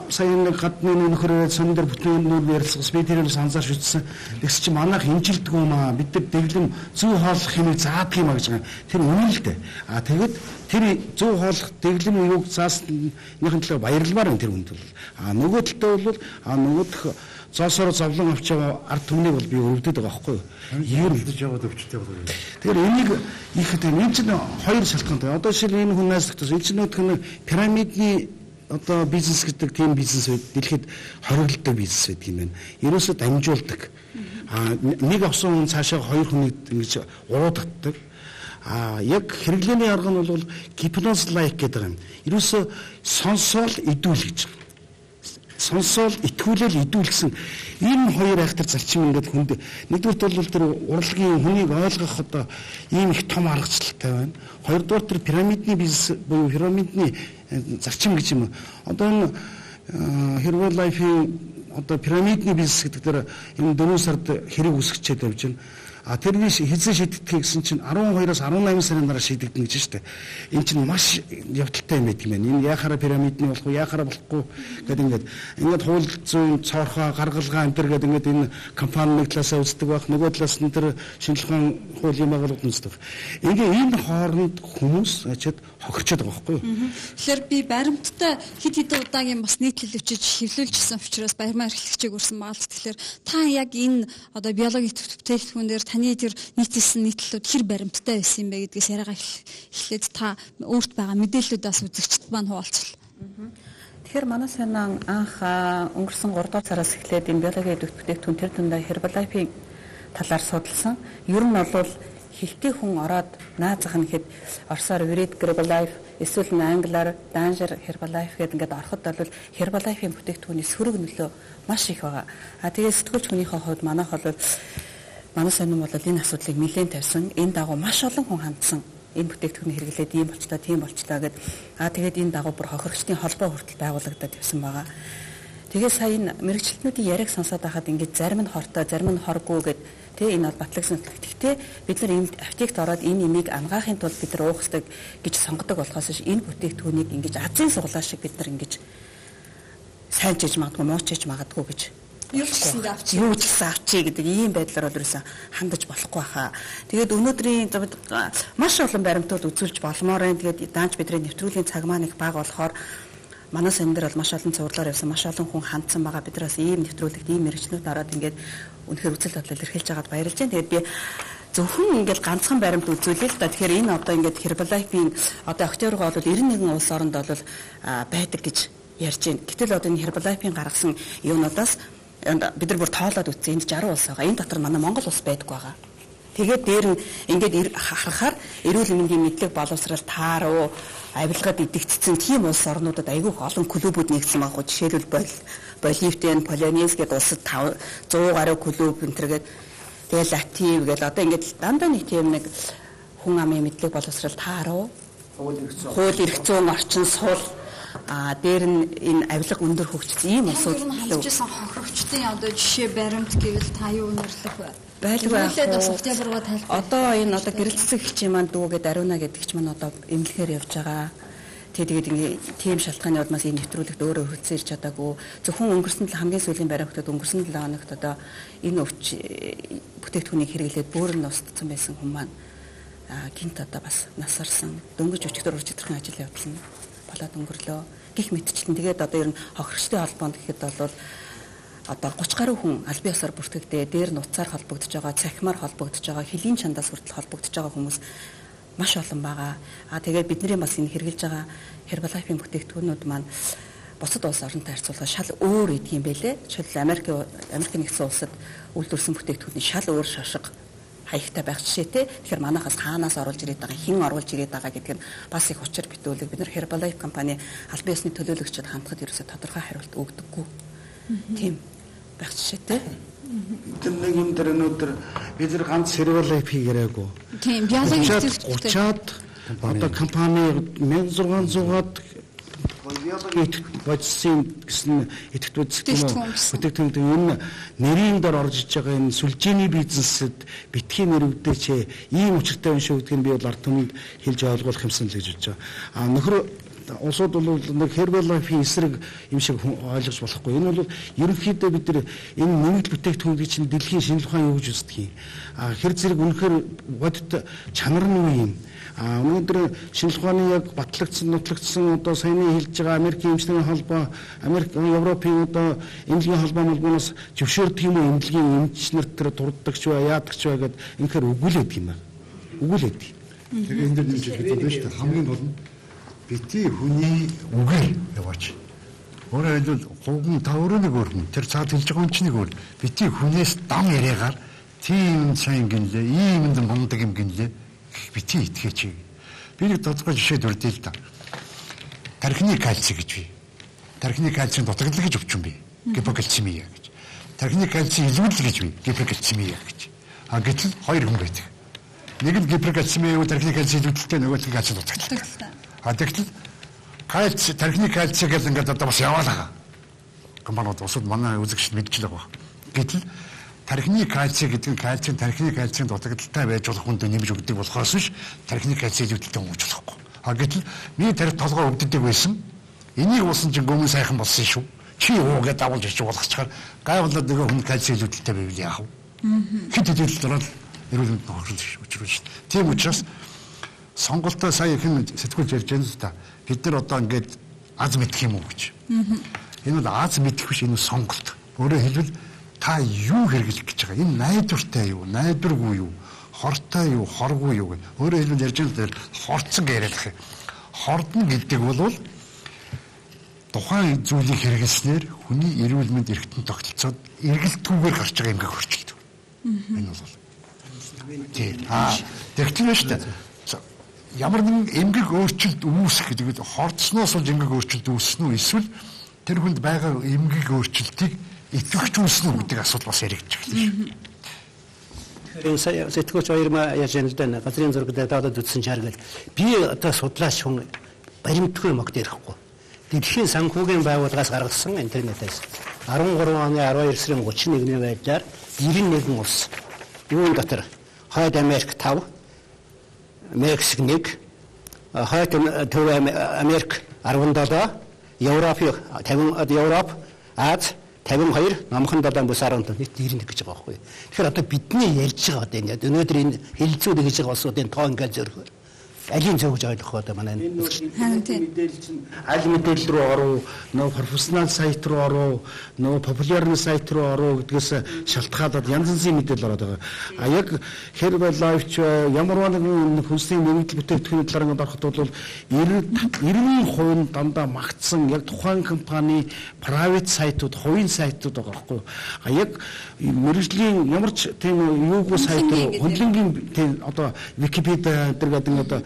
сайн нэг гадны нөхөрөө сон дээр бүтэн нүүр ярилцсан би тэрээс анзаарч үзсэн. Тэгс чи манайх хэмжилдэг юм аа. Бид нар дэглэм зөв хооллох хэмээг заадаг юм а гэж байгаа. Тэр үнэн л дээ. А тэгэд тэр зөв хооллох дэглэм юуг зааснийхэн төлөө баярламаар энэ тэр үнд бол. А нөгөө талдаа бол а нөгөөх зоосоор зовлон авч байгаа ард түмнийг бол би өвдөд байгаа байхгүй юу? Ийм үлдэж яваад өвчтэй болов. Тэгэхээр энийг их хэвээр энэ чинь хоёр шалтгаантай. Одоо жишээл энэ хүн найзлагтаас энэ чинь нөгөө нэг пирамидны одоо бизнес гэдэг тийм бизнес байд дэлхийд хоригддаг бизнес байдаг юм байна. Ерөөсөө дамжуулдаг. А нэг авсан хүн цаашаа хоёр хүнийг ингэж урууддаг. А яг хэрэглээний арга нь бол гипноз лайк гэдэг юм. Ерөөсөө сонсоол идүүл гэж. Сонсоол итгүүлэл идүүл гэсэн энэ хоёр айхтар зарчим ингээд хүнд нэгдүгürt бол тэр урлагийн хүнийг ойлгох одоо ийм их том аргачлалтай байна. Хоёрдугаар тэр пирамидны бизнес буюу пирамидны зарчим гэж юм. Одоо энэ Herbalife-ийн одоо пирамидны бизнес гэдэг дээр энэ дөрвөн сард хэрэг үсгэчээд явж байна. А тэрний хэзээ шийдэгдэх гэсэн чинь арван хоёроос арван найман сарын дараа шийдэгдэнэ гэж шүү дээ. Энэ чинь маш явдалтай юм байдаг юм байна. Энэ яхаараа пирамидны болох уу, яхаараа болохгүй гэдэг ингээд ингээд хууль зүйн цоорхоо гаргалгаа энэ төр гэдэг ингээд энэ компани нэг талаасаа үздэг байх, нөгөө талаас нь тэр шинжилгээ ухаан хуулийн байгууллагууд үздэг. Ингээ энэ хооронд хүмүүс ачаад хохирчод байгаа байхгүй юу? Тэгэхээр би баримттай хэд хэдэн удаагийн бас нийтлэл өчөж хэвлүүлжсэн учраас баярмаа эрхлэгчийг өрсөн маалт. Тэгэхээр та яг энэ одоо биологийн бүтээгдэхүүн дээр таны тэр нийтэлсэн нийтлэлүүд хэр баримттай байсан юм бэ гэдгээс яриагаа эхлээд та өөрт байгаа мэдээллүүдээс үзэгчд маань хуваалцвал. Тэгэхээр манай санаан анх өнгөрсөн гурав дахь сараас эхлээд энэ биологийн бүтээгдэхүүн тэр дундаа Herbalife-ийн талаар судалсан. Ер нь бол хилтэй хүн ороод наазах нь хэд орсоор Virid Herbalife эсвэл англиар Danger Herbalife гэдэг ингээд ороход бол Herbalife-ийн бүтээгдэхүүний сөрөг нөлөө маш их байгаа. А тэгээд сэтгүүлч хүнийхээ хувьд манайх бол манай сонирм бол энэ асуудлыг нэлээд тавьсан. Энэ дагуу маш олон хүн хандсан. Энэ бүтээгдэхүүний хэрэглээд ийм болчлаа, тийм болчлаа гэд. А тэгээд энэ дагуу бүр хохирогчдын холбоо хүртэл байгуулагдаад явсан байгаа. Тэгээд сая энэ мэрэгчлэтнүүдийн яриаг сонсоод байхад ингээд зарим нь хортой, зарим нь хоргүй гэд тэ энэ бол батлагсан. Гэхдээ бид нар энэ аптект ороод энэ имийг ангаахын тулд бид нар уух хэрэгтэй гэж сонгодог болохоос энэ бүтээгдэхүүнийг ингэж азийн суглаа шиг бид нар ингэж сайн чиж магадгүй, муу чиж магадгүй гэж юу ч гэсэн авчи юу ч гэсэн авчи гэдэг ийм байдлаар бол ерөөсөн хандаж болохгүй хаа. Тэгээд өнөөдрийн маш олон баримтууд үзүүлж болмоор байна. Тэгээд даанч бидний нэвтрүүлгийн цаг маань их бага болохоор манай сан дээр бол маш олон цувралаар явсан, маш олон хүн хандсан байгаа. Бид нараас ийм нэвтрүүлэгт ийм мэрэгчлүүд ороод ингээд үнэхээр үзэл бодлоо илэрхийлж байгаад баярлж байна. Тэгээд би зөвхөн ингээд ганцхан баримт үзүүлээ л да. Тэгэхээр энэ одоо ингээд Herbalife-ийн одоо октябргоо бол девяносто один улс оронд бол байдаг гэж ярьж байна. Гэтэл одоо энэ Herbalife-ийн гаргасан юунуудаас бид нар бүр тоолоод үзсэн. Энд сixty улс байгаа. Энэ дотор манай Монгол улс байдаггүй байгаа. Тэгээд дээр нь ингээд харахаар эрүүл мэндийн мэдлэг боловсрал тааруу авилгад идэвхжсэн тийм улс орнуудад айгүй олон клубүүд нэгдсэн байгаа. Жишээлбэл Боливтен, Полонез гэдэг улсад one hundred гаруй клуб энтергээд тэгээд Латив гэдэг одоо ингээд дандаа нэг тийм нэг хүн амын мэдлэг боловсрал тааруу хууль эрх зүйн орчин сул а дээр нь энэ авилга өндөр хөгжсөн ийм улсууд халжсэн хохирогчдын одоо жишээ баримт гэвэл та юу нэрлэх вэ? Байлгүй бас октябргоо тайлбар. Одоо энэ одоо гэрэлцсэн хичээн маань дүүгээд Ариуна гэдэг ч маань одоо эмнэлгээр явж байгаа. Тэгээд ингээд тийм шалтгааны улмаас энэ нэвтрүүлэгт өөрөө хөлцөн ирч чадаагүй. Зөвхөн өнгөрсөн л хамгийн сүүлийн баримтад өнгөрсөн seven хоногт одоо энэ өвч бүтээгдэхүүнийг хэрэглээд бүр нь устсан байсан хүн маань гинт одоо бас насарсан. Дөнгөж өчигдөр урчидрахын ажил явуулсан болоод өнгөрлөө. Гэх мэтчлэн тэгээд одоо ер нь хохирогчтой холбоонд гэхэд бол одоо thirty гаруй хүн аль бие усаар бүртгэгдээ, дээр нь уцаар холбогдож байгаа, цахимаар холбогдож байгаа, хөлийн чандаас хүртэл холбогдож байгаа хүмүүс маш олон байгаа. А тэгээд бидний бас энэ хэрэгжилж байгаа Herbalife-ийн бүтээгдэхүүнүүд маань бусад улс орнтой харьцуулахад шал өөр идэх юм байлээ. Жишээлбэл Америк Америк нэгдсэн улсад үйлдвэрсэн бүтээгдэхүүний шал өөр шошго хаягтай байх жишээтэй. Тэгэхээр манайхаас хаанаас оруулж ирээд байгаа, хэн оруулж ирээд байгаа гэдэг нь бас их учир битүүлэг. Бид нар Herbalife компани аль бие усны төлөөлөгчид хандхад ерөөсө тодорхой хариулт өгдөггүй. Тийм байх жишээтэй. Тэр нэг юм дээр өнөөдөр бид нар ганц Herbalife хийгээрээгүй. Тийм, биологийн thirty-аад одоо компани sixteen hundred-аад биологийн бодисын гэсэн идэвхтэй бүтээгдэхүүн энэ нэрийн дор орж иж байгаа энэ сүлжээний бизнесэд битгий нэрвдээч ийм учиртай юм шиг гэдгийг би бол ард түмэнд хэлж ойлгуулах юмсан л гэж бодож байгаа. А нөхөр улсууд бол нэг Herbalife-ийн эсрэг юм шиг ойлгож болохгүй. Энэ бол ерөнхийдөө бид нар энэ нэмэлт бүтээгдэхүүн гэж чинь дэлхийн шинжилгээ ухаан юу гэж үздэг юм. А хэр зэрэг үнэхээр бодит чанар нь юу юм. А өнөөдөр шинжилгээ ухааны яг батлагдсан, нутлагдсан одоо саяны хэлж байгаа Америкийн эмчилгээний холбоо, Америк, Европын одоо эмнэлгийн холбоо молгоноос зөвшөөрдөг юм уу эмнэлгийн эмч нарт тэр дурддагч бай, яадаг ч бай гэдэг инхээр өгүүлээд юм байна. Өгүүлээд. Тэгээ энэ дэр нэг зүйл гэдэг нь шүү дээ. Хамгийн гол нь бити хүний үгээр яваач. Өөрөөр хэлбэл гуган та өөрөө нэг өөрнө. Тэр цаад хэлж байгаа юм чинь нэг өөр. Бити хүнээс дам яриагаар тийм сайн гинлээ, ийм юм мундаг юм гинлээ. Бити итгэж. Би нэг тодорхой жишээ дүрдээ л да. Тархины кальци гэж би. Тархины кальцийн дутагдал гэж өвчин би. Гипокальцемия гэж. Тархины кальци илүүдэл гэж би. Гипокальцемия гэж. А гэтэл хоёр хүн байдаг. Нэг нь гипокальцемия уу тархины кальци илүүдэлтэй, нөгөө нь кальци дутагдaltaй. А тэгтэл кальци тархины кальци гэдэг ингээд одоо бас яваалаа. Компаниуд усуд манай үзэгчд мэдчихлээ баг. Гэтэл тархины кальци гэдэг нь кальцийн тархины кальцийн дутагдaltaй байж болох хүнд нэмж өгдөг болохоос биш тархины кальци илүүдэлтэй өнгөж болохгүй. А гэтэл миний тарих толгой өвддөг байсан. Энийг уусан чинь гүмэн сайхан болсон шүү. Чи юу гэдээ давуулж ич болгочхоор гайвуулаад нөгөө хүн кальци илүүдэлтэй байвал яах вэ? Хэд хэдэл дөрөв эрүүл мэндийн хохирол учруулж шүү. Тийм учраас сонголтоо сая хэн сэтгүүлж ярьж байна л да. Бид нар одоо ингээд аз мэдэх юм уу гэж. Энэ бол аз мэдэх биш, энэ сонголт. Өөрөөр хэлбэл та юу хэрэглэх гэж байгаа? Энэ найдвартай юу, найдваргүй юу, хортой юу, хоргүй юу гэх. Өөрөөр хэлбэл ярьж байгаа л хорцсон яриад их. Хордно гэдэг бол тухайн зүйлийг хэрэглэснээр хүний эрүүл мэнд эргэтэн тогтолцоод эргэлтгүйгээр гарч байгаа эмгэг хөрчилдөг. Энэ бол. Тийм. Аа, тэгтэн шүү дээ. Ямар нэгэн эмгэг өөрчлөлт үүсэх гэдэг нь хордсноос болж эмгэг өөрчлөлт үүснэ үү эсвэл тэр хүнд байгаа эмгэг өөрчлөлтийг итгэвч үүснэ үү гэдэг асуудал бас яригдчих лээ. Тэгэхээр сая сэтгүүлч хоёр маа яаж яана л да газрын зураг дээр доод үтсэн чаргал би одоо судлаач хүн баримтгүй мог дээрхгүй. Дэлхийн санхүүгийн байгууллагаас гаргасан интернетээс арван гурван оны арван хоёр сарын гучин нэгний байдлаар девяносто один улс юун дотор Хойд Америк тавь, Мексик нэг, Хойд Төв Америк арван долоо, Европ тавин Европ, Аз тавин хоёр, Номхон долоон бүс арван нэг девяносто гэж байгаа байхгүй. Тэгэхээр одоо бидний ярьж байгаа одоо энэ өнөөдөр энэ хэлэлцүүд гэж байгаа улсуудын тоо ингээд зөрөхөөр алийн зөв гэж ойлгох одоо манай мэдээлэл чинь аль мэдээлэл рүү оров, нөө профессионал сайт руу оров, нөө популярны сайт руу оров гэдгээс шалтгаалаад янз янзын мэдээлэл ороод байгаа. А яг Herbal Life ч ямар нэгэн хүнсний нэмэгдэл бүтээгдэхүүний талаар ингээд ороход бол ninety percent дандаа магтсан яг тухайн компани private сайтууд, хувийн сайтууд байгаа байхгүй юу? А яг мэрэгжлийн ямар ч тийм юугүй сайт руу хөндлөнгийн тийм одоо Википедиа гэдэг одоо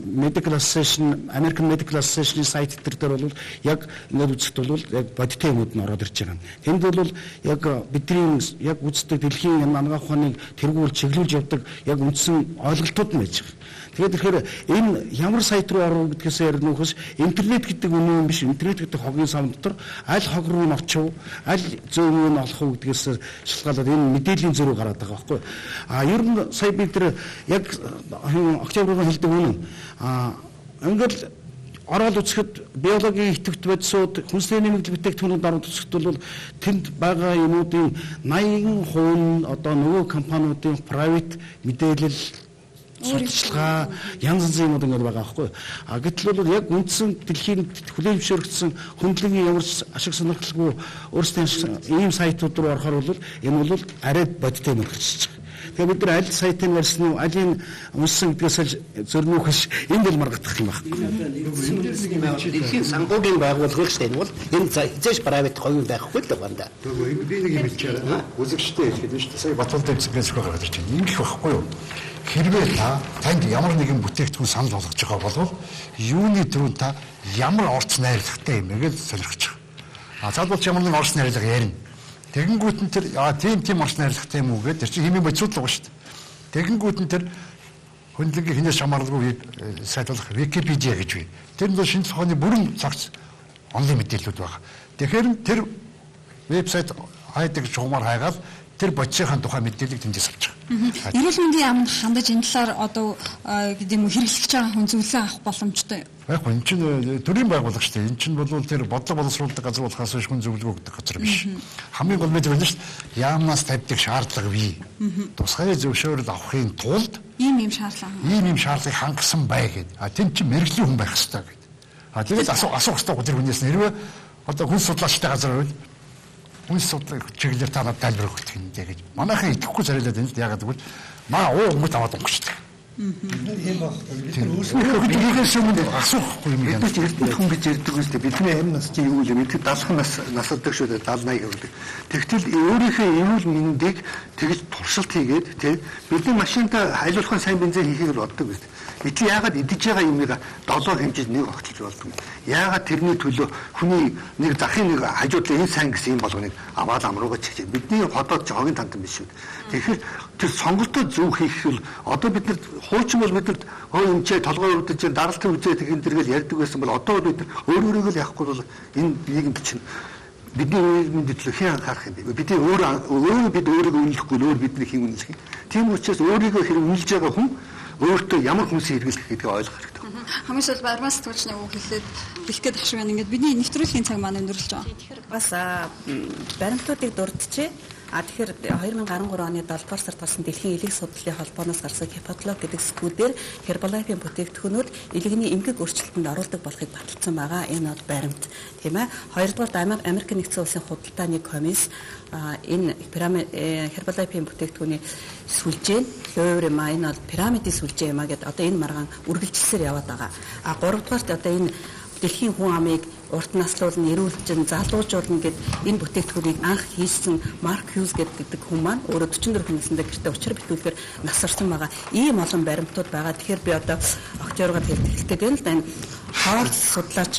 Medical Association, American Medical Association сайт дээр бол яг ингээд үзэхэд бол яг бодиттой юмуд нь ороод ирж байгаа. Тэнд бол яг бидний яг үздэг дэлхийн анагаах ухааныг тэргүүл чиглүүлж явдаг яг үндсэн ойлголтууд нь байж байгаа. Тэгээд тэгэхээр энэ ямар сайт руу оров гэдгээс яринухс интернет гэдэг үнэн юм биш. Интернет гэдэг хогийн сан дотор аль хог руу нь очив, аль зөв юм олох уу гэдгээс шалтгаалаад энэ мэдээллийн зөрүү гараад байгаа байхгүй. А ер нь сая бид тэр яг октябрын хэлдэг үнэн. А ингээд ороод үзэхэд биологийн идэвхт бодисууд хүнсний нэмэгдэл бүтээгдэхүүнүүд ороод үзэхэд бол тэнд байгаа юмнуудын ninety percent одоо нөгөө компаниудын private мэдээлэл судалгаа янз янзын юмуд ингээд байгаа байхгүй. А гэтэл бол яг үндсэн дэлхийн хүлээн зөвшөөрөгдсөн хөндлөгийн ямар ашиг сонирхолгүй өөрсдийн ийм сайтууд руу орохоор бол энэ бол арай бодиттой юм болчихж байгаа. Тэгээ бид нар аль сайтыг барьсан уу, аль энэ унсан гэдгээс зөрнөхөш энд л маргадах юм байна. Дэлхийн санхүүгийн байгууллага шүү дээ. Энэ бол энэ зэш private хувийн байхгүй л байна да. Тэгээ би нэг юм хэлчихээр үзэгчтэй хэлэхэд нь шүү дээ. Сая Батболтой хэсгээс гараад ирж байна. Ингэх байхгүй юу? Хэрвээ та танд ямар нэгэн бүтээгдэхүүн санал болгож байгаа бол юуны төрөнд та ямар орц найрлагатай юм бэ гэж сонирхож байгаа. А залбуулч ямар нэгэн орц найрлага ярина. Тэгэнгүүт нь тэр аа тийм тийм орц найрлагатай юм уу гэдэг тэр чинь хэмээн бодисууд л байгаа шүү дээ. Тэгэнгүүт нь тэр хөндлөнгийн хинээс хамааралгүй сайт болох Википедиа гэж бий. Тэр нь шинжлэх ухааны бүрэн цагц онлайн мэдээлэлүүд байгаа. Тэгэхээр тэр вебсайт хайдаг чухмаар хайгаад тэр бодисынхаа тухай мэдээллийг тэндээс авч байгаа. Эрүүл мэндийн яамд хандаж энэ талаар одоо гэдэг юм уу хэрэглэж байгаа хүн зөвлөгөө авах боломжтой. Байхгүй энэ чинь төрийн байгууллага шүү дээ. Энэ чинь бол тэр бодлого боловсруулдаг газар болохоос биш хүн зөвлөгөө өгдөг газар биш. Хамгийн гол мэдээ байна шүү дээ. Яамнаас тавьдаг шаардлага бий. Тусгай зөвшөөрөл авахын тулд ийм ийм шаардлага. Ийм ийм шаардлагыг хангасан бай гэдэг. А тэнд чинь мэрэгжлийн хүн байх хэрэгтэй гэдэг. А тэгээд асуух асуух хэрэгтэй тэр хүнээс нэрвээ одоо хүн судлаачтай газар байвал үнс судлаа чиглэлээр та надад тайлбар өгөх юм дээ гэж. Манайхан идэхгүй царайлаад энэ л яагаад гэвэл маа уу хүмүүс аваад өнгөчтэй. Тийм баг. Өөрсдөө бидээс өмнө асуухгүй юм яа. Бид эрдэнэ хүн гэж ярьдаг үстэй. Бидний амь нас чинь юу вэ? Бид даалхан нас насалдаг шүү дээ. даална гэдэг. Тэгтэл өөрийнхөө эрүүл мэндийг тэгж туршилт хийгээд тий бидний машинтаа хайлуулахын сайн бензин хийхийг боддог үстэй. Би чи яагаад идэж байгаа юмыг долоо хэмжиж нэг огтлж болдог юм. Яагаад тэрний төлөө хүний нэг захын нэг хажуудлаа энэ сайн гэсэн юм болгоныг аваад амруугаа чиж. Бидний ходоод жогийн тантан биш шүү. Тэгэхээр тэр сонголтоо зөв хийх хэл одоо бид нар хуучин бол бид нар хөө юмчээ толгой өрдөж даралтын үзээ тэгэн дэргээл ярьдаг байсан бол одоо бид нар өөр өөрийгөө л яахгүй бол энэ нийгэмд чинь бидний эрүүл мэндийн төлөө хэн анхаарах юм бэ? Бидний өөр өөрөө бид өөрийгөө үнэлэхгүй өөр бидний хэн үнэлэх юм. Тийм учраас өөрийгөө хэрэг үнэлж байгаа хүн өөртөө ямар хүнсийг хэрэглэх гэдгийг ойлгох хэрэгтэй. Хамгийн сүүлд баримт сэтгүүлчний үг хэлээд бэлэх гээд ах шиг байна. Ингээд бидний нэвтрүүлгийн цаг маань өндөрлөж байгаа. Тэгэхээр бас баримтуудыг дурдчихъя. А тэгэхээр две тысячи тридцать оны долдугаар сард болсон дэлхийн элэг судлалын холбооноос гарсан Хиппотлог гэдэг сэтгүүлээр Herbalife-ийн бүтээгдэхүүнүүд элэгний эмгэг өөрчлөлтөнд оруулдаг болохыг баталсан байгаа. Энэ бол баримт, тийм ээ. Хоёрдугаар Америк нэгдсэн улсын худалдааны комисс энэ пирамид Herbalife-ийн бүтээгдэхүүний сүлжээ, Fleur-ма энэ бол пирамидын сүлжээ юм а гэдэг одоо энэ маргаан үргэлжилсээр яваад байгаа. А гуравдугаарт одоо энэ дэлхийн хүн амыг урт наслуулна, эрүүлжин, залуужуулна гэд энэ бүтээгдэхүүнийг анх хийсэн Марк Хьюз гэдэг хүн маань өөрөө forty-four хүнсэндээ гэртээ учир битүүлгээр насарсан байгаа. Ийм олон баримтууд байгаа. Тэгэхээр би одоо октябргаар хэлэлцээд байна л да энэ хоол судлаач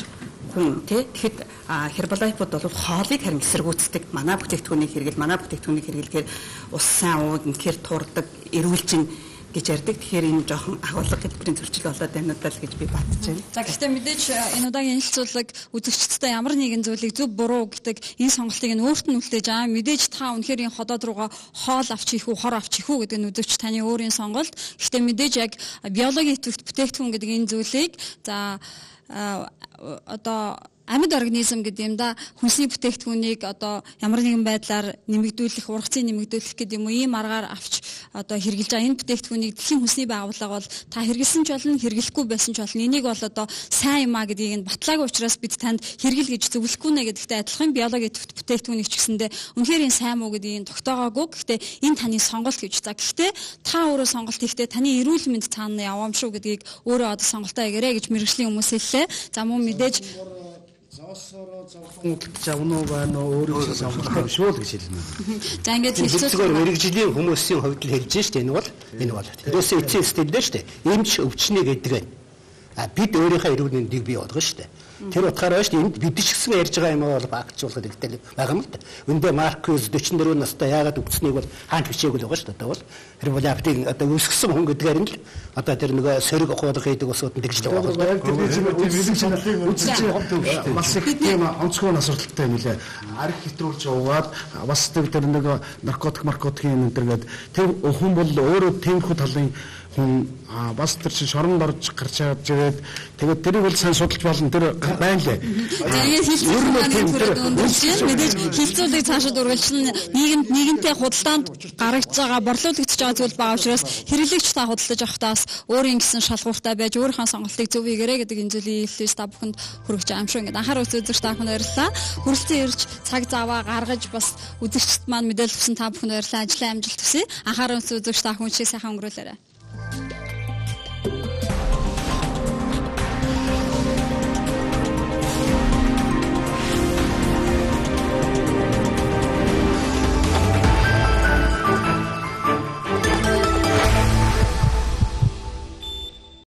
хүн тий тэгэхэд Herbalife-уд бол хоолыг харин эсэргүүцдэг. Манай бүтээгдэхүүнийг хэрэгэл, манай бүтээгдэхүүнийг хэрэглэхээр ус сайн ууг, үнэхээр турдаг, эрүүлжин гэж ярьдаг. Тэгэхээр энэ жоохон агуулга хэлбэрийн зөрчил болоод байна удаа л гэж би бодож байна. За гэхдээ мэдээж энэ удаагийн хэлэлцүүлэг үзэгчдэд ямар нэгэн зүйлийг зөв буруу гэдэг энэ сонголтыг нь өөрт нь үлдээж аа мэдээж та үнэхээр энэ ходоод руугаа хоол авч хийх үү, хор авч хийх үү гэдэг нь үзэгч таны өөрийн сонголт. Гэхдээ мэдээж яг биологийн идэвхтэй бүтээгдэхүүн гэдэг энэ зүйлийг за одоо амьд организм гэдэг юм да хүнсний бүтээгдэхүүнийг одоо ямар нэгэн байдлаар нэмэгдүүлэх, ургацын нэмэгдүүлэх гэдэг юм уу ийм аргаар авч одоо хэрэгжилж байгаа энэ бүтээгдэхүүнийг дэлхийн хүнсний байгууллага бол та хэрэгэлсэн ч болно, хэрэглэхгүй байсан ч болно. Энийг бол одоо сайн юм а гэдгийг нь батлаагүй учраас бид танд хэрэгэл гэж зөвлөхгүй нэ гэдэгтэй адилхан биологийн бүтээгдэхүүнийг ч гэсэндээ үнэхээр энэ сайн муу гэдгийг тогтоогоогүй. Гэхдээ энэ таны сонголт гэж. За гэхдээ та өөрөө сонголт хийхдээ таны эрүүл мэнд цаана явам шүү гэдгийг өөрөө одоо сонголтоо ягээрэй гэж мэргэжлийн хүмүүс хэллээ. За мөн мэдээж Зоосороо зовхон завнуу байна уу өөрөө сонголт юм шүү л гэж хэлнэ. За ингээд хэлцүүгээр мэрэгжлийн хүмүүсийн хувьд л хэлж штэ энэ бол энэ бол. Тэрээс эцсийн стилдээ штэ. Эмч өвчнээ гэдэг нь. А бид өөрийнхөө эрүүл мэндийг бий болгоно штэ. Тэр утгаараа штэ энд бид ч гэсэн ярьж байгаа юм бол багцуулахад хэрэгтэй байгаа юм л да. Өндөө Маркус forty-four настай яагаад өвчнийг бол хаанч бичээгүй л байгаа штэ. Одоо бол Herbalife-ийн одоо өсгсөн хүн гэдгээр нь л одоо тэр нөгөө сөрөг ухуулга хийдэг усууд нь тэгж л байгаа. Бас их тийм онцгой асуудалтай юм лээ. Арх хэтрүүлж уугаад бас тэр нөгөө наркотик маркотикийн энэ төргээд тэр хүн бол өөрөө тиймэрхүү талын хүн бас тэр чинь шоронд орж гарч явж тэгээд тэгээд тэрийг бол сайн судалж болно тэр байна лээ. Тэгээд хэлцүүлэг мэдээж хэлцүүлэг цаашаа үргэлжлэн нийгэмд нийгэмтэй худалдаанд гаргаж байгаа борлуулагдж байгаа зүйл байгаа учраас хэрэглэгч та худалдаж авахдаа бас өөрийн гэсэн шалгууртай байж өөрийнхөө сонголтыг зөв хийгээрэй гэдэг энэ зүйлийг хэлж та бүхэнд хүргэж байгаа юм шүү. Ингээд анхаар үзүүлж та бүхэнд баярлалаа. Хүрэлцэн ирж цаг заваа гаргаж бас үзэгчд маань мэдээлэл өгсөн та бүхэнд баярлалаа. Ажлын амжилт хүсье. Анхаар үзүүлж та бүхэн шиг сайхан өнгөрүүлээрэй.